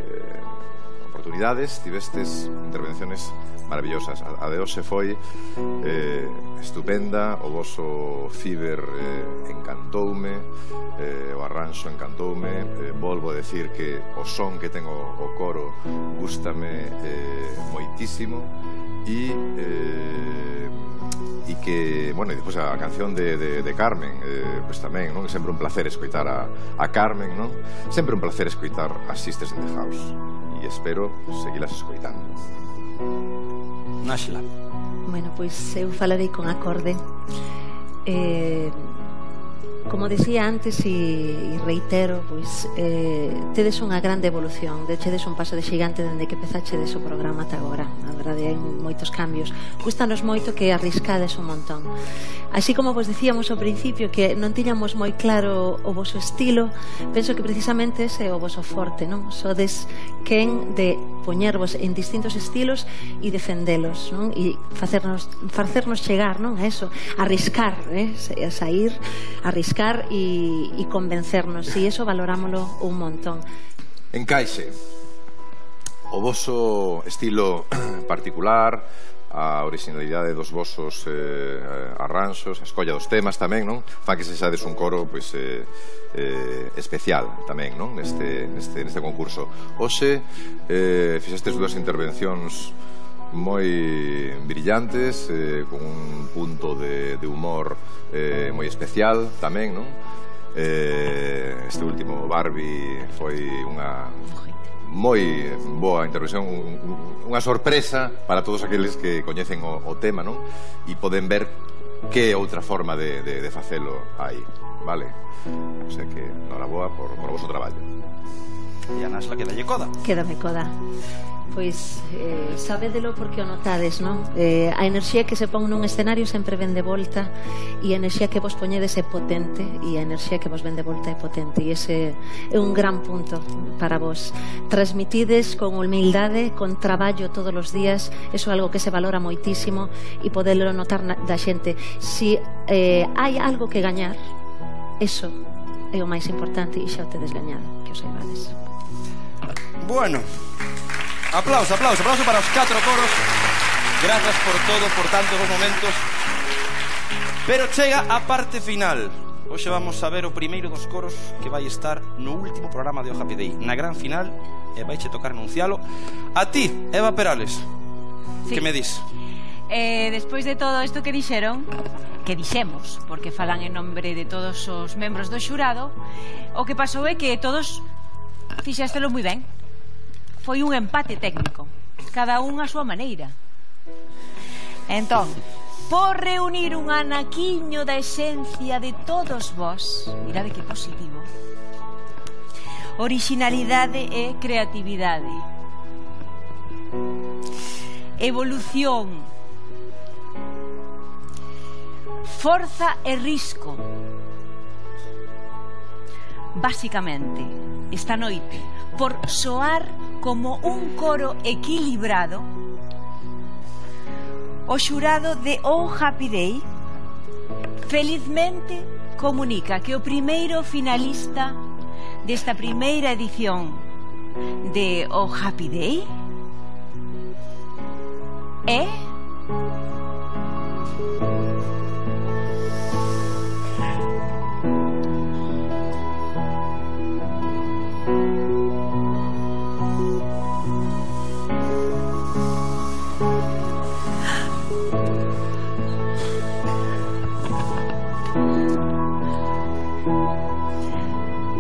eh, oportunidades tivestes intervenciones maravillosas. A, a de hoxe foi eh, estupenda. O voso ciber eh, encantoume, eh, o arranxo encantoume. eh, Volvo a decir que o son que ten o, o coro gústame eh, moitísimo. E eh, e que, bueno, e depois a canción de, de, de Carmen, eh, pois tamén, non? É sempre un placer escoitar a, a Carmen, non? Sempre un placer escoitar as Sisters in the House, e espero seguilas escoitando. Náxila. Bueno, pois eu falarei con acorde. eh, Como decía antes e reitero, pois eh, tedes unha grande evolución, dechedes un paso de xigante dende que pezachedes o programa ata agora. A verdade, hai moitos cambios. Gustanos moito que arriscades un montón. Así como vos dicíamos ao principio que non tiñamos moi claro o voso estilo, penso que precisamente ese é o voso forte, non? Sodes quen de poñervos en distintos estilos e defendelos, non? E facernos, facernos chegar, non? A eso, arriscar, eh? A sair, arriscar e, e convencernos, e iso valorámoslo un montón. Encaixe. O voso estilo particular, a originalidade dos vosos eh, arranxos, a escolla dos temas tamén, non? Fan que se xades un coro pois, eh, eh, especial tamén, non? Neste, neste, neste concurso. Hoxe eh, fixestes dúas intervencións moi brillantes, eh, con un punto de, de humor eh, moi especial tamén, non? Eh, este último Barbie foi unha moi boa intervención, unha sorpresa para todos aqueles que coñecen o, o tema, non? E poden ver que outra forma de, de, de facelo hai, vale? O sea que, noraboa por, por o vosso traballo. E a Nasla quedalle coda. Quédame coda. Pois eh, sabédelo porque o notades, non? Eh, a enerxía que se pon nun escenario sempre ven de volta, e a enerxía que vos poñedes é potente, e a enerxía que vos ven de volta é potente, e ese é un gran punto para vos. Transmitides con humildade, con traballo todos os días, eso é algo que se valora moitísimo, e podelo notar na, da xente. Si eh, hai algo que gañar, eso é o máis importante, e xa o tedes gañado, que o saibades. Bueno, aplauso, aplauso, aplauso para os catro coros. Grazas por todo, por tantos bons momentos. Pero chega a parte final. Hoxe vamos a ver o primeiro dos coros que vai estar no último programa de O Happy Day, na gran final, e vai che tocar anuncialo. A ti, Eva Perales, sí. Que me dis? Eh, despois de todo isto que dixeron, que dixemos, porque falan en nombre de todos os membros do xurado, o que pasou é que todos fixéstelo moi ben. Foi un empate técnico, cada un a súa maneira. Entón, por reunir un anaquiño da esencia de todos vós, mirade que positivo, originalidade e creatividade, evolución, forza e risco. Básicamente, esta noite, por soar como un coro equilibrado, o xurado de O Happy Day felizmente comunica que o primeiro finalista desta primeira edición de O Happy Day é...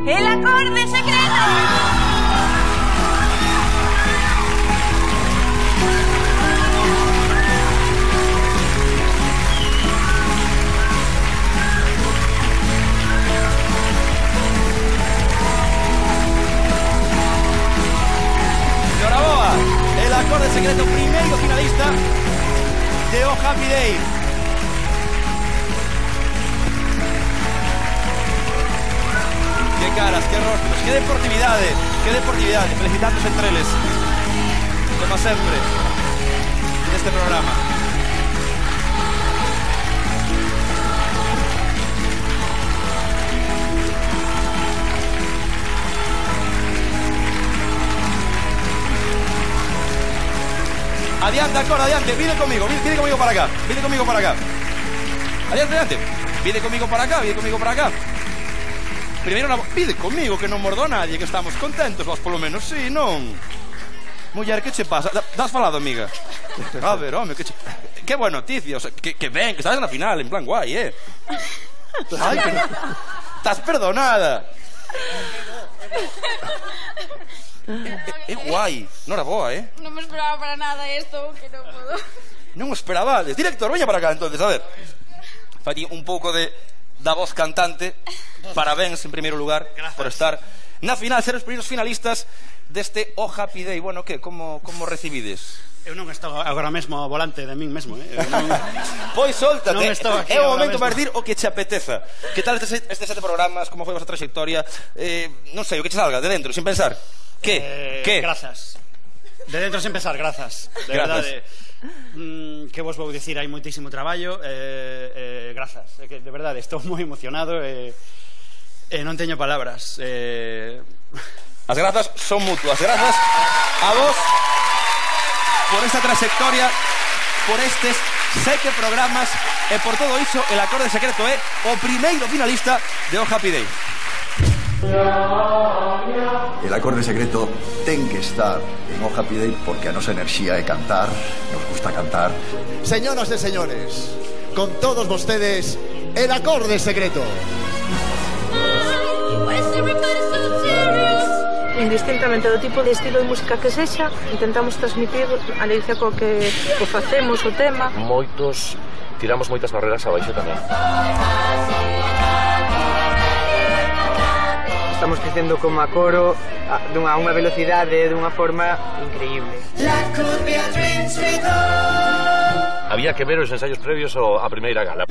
El acorde secreto. Noraboa, el acorde secreto primeiro finalista de O Happy Day. Qué caras, qué rostros, qué deportividade, qué deportividade. Felicitantes entre eles, como sempre, neste programa. Adiante, acorde, adiante, vine conmigo, vine, vine conmigo para acá, vine conmigo para acá. Adiante, adiante, vine conmigo para acá, vine conmigo para acá. Primeiro, na... pide conmigo, que non mordo a nadie, que estamos contentos, vos polo menos, sí, non? Muller, que che pasa? Das falado, amiga? A ver, home, que che... Que boa noticia, o sea, que, que ben, que estás na final, en plan guai, eh? Ai, que... Estás perdonada. É guai, non era boa, eh? Non me esperaba para nada esto, que non podo. Non o esperabades. Director, veña para acá, entonces, a ver. Fai un pouco de... da voz cantante. Parabéns en primeiro lugar. Gracias. Por estar na final, ser os primeiros finalistas deste O Happy Day. Bueno, que, como, como recibides? Eu non estou agora mesmo ao volante de min mesmo, eh? Non... Pois soltate, non estou aquí é o momento para decir o que che apeteza. Que tal estes, estes sete programas, como foi a vosa trayectoria? eh, Non sei, o que che salga de dentro, sin pensar. Que? Eh, que? Grazas. De dentro sen pensar, grazas. De grazas. verdade. Mm, que vos vou dicir, hai moitísimo traballo, eh, eh, grazas. É que de verdade estou moi emocionado e eh, eh, non teño palabras. Eh... As grazas son mutuas. Grazas a vos por esta trayectoria, por estes sete programas e por todo iso. El acorde secreto é o primeiro finalista de O Happy Day. El acorde secreto ten que estar en O Happy Day porque a nosa enerxía é cantar, nos gusta cantar. Señoras e señores, con todos vostedes, el acorde secreto. Indistintamente do tipo de estilo de música que sexa, intentamos transmitir a alegría co que o facemos, o tema. Moitos, tiramos moitas barreras abaixo tamén. Estamos crecendo como a coro a, dunha unha velocidade, dunha forma increíble. Había que ver os ensaios previos ao, a primeira gala.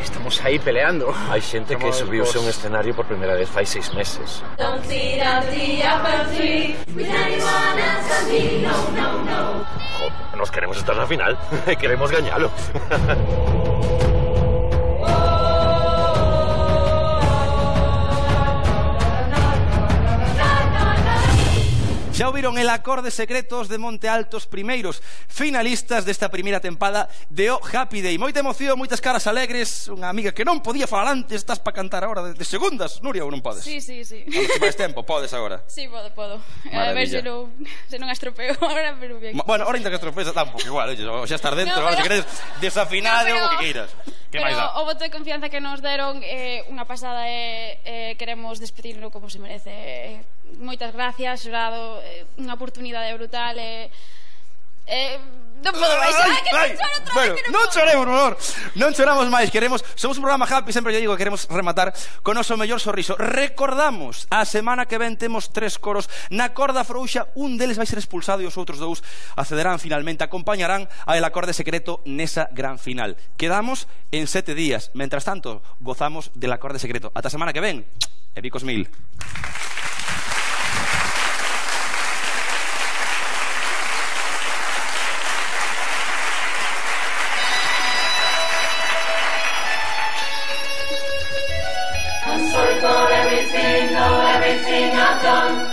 Estamos aí peleando. Hai xente que subiuse a un escenario por primeira vez fai seis meses. Jo, nos queremos estar na final, queremos gañalo. Xa ouviron el acorde secretos de Monte Altos, primeiros finalistas desta primeira tempada de O Happy Day. Moita emoción, moitas caras alegres. Unha amiga que non podía falar antes, estás para cantar agora de, de segundas, Nuria, ou non podes? Sí, sí, sí. Cando te máis tempo, podes agora? Sí, podo, podo. Maravilla. A ver se non, se non estropeo agora, pero bien. Bueno, ahora ainda que estropees, dá un pouco igual, oye, xa estar dentro, No, agora pero... se queres desafinado, no, pero... o que queiras. Que Pero máis dá? o voto de confianza que nos deron é eh, unha pasada e eh, queremos despedirlo como se merece. Eh, moitas gracias, xorado, eh, unha oportunidade brutal e... Eh, non podo máis, ai, que non choro outra bueno, vez, que non non podo. choremos, por favor. Non choramos máis, queremos, somos un programa happy, sempre lle digo que queremos rematar con o noso mellor sorriso. Recordamos, a semana que ven temos tres coros na corda frouxa, un deles vai ser expulsado e os outros dous accederán finalmente, acompañarán a el acorde secreto nesa gran final. Quedamos en sete días, mentras tanto gozamos del acorde secreto. Ata a semana que ven, e bicos mil. have done.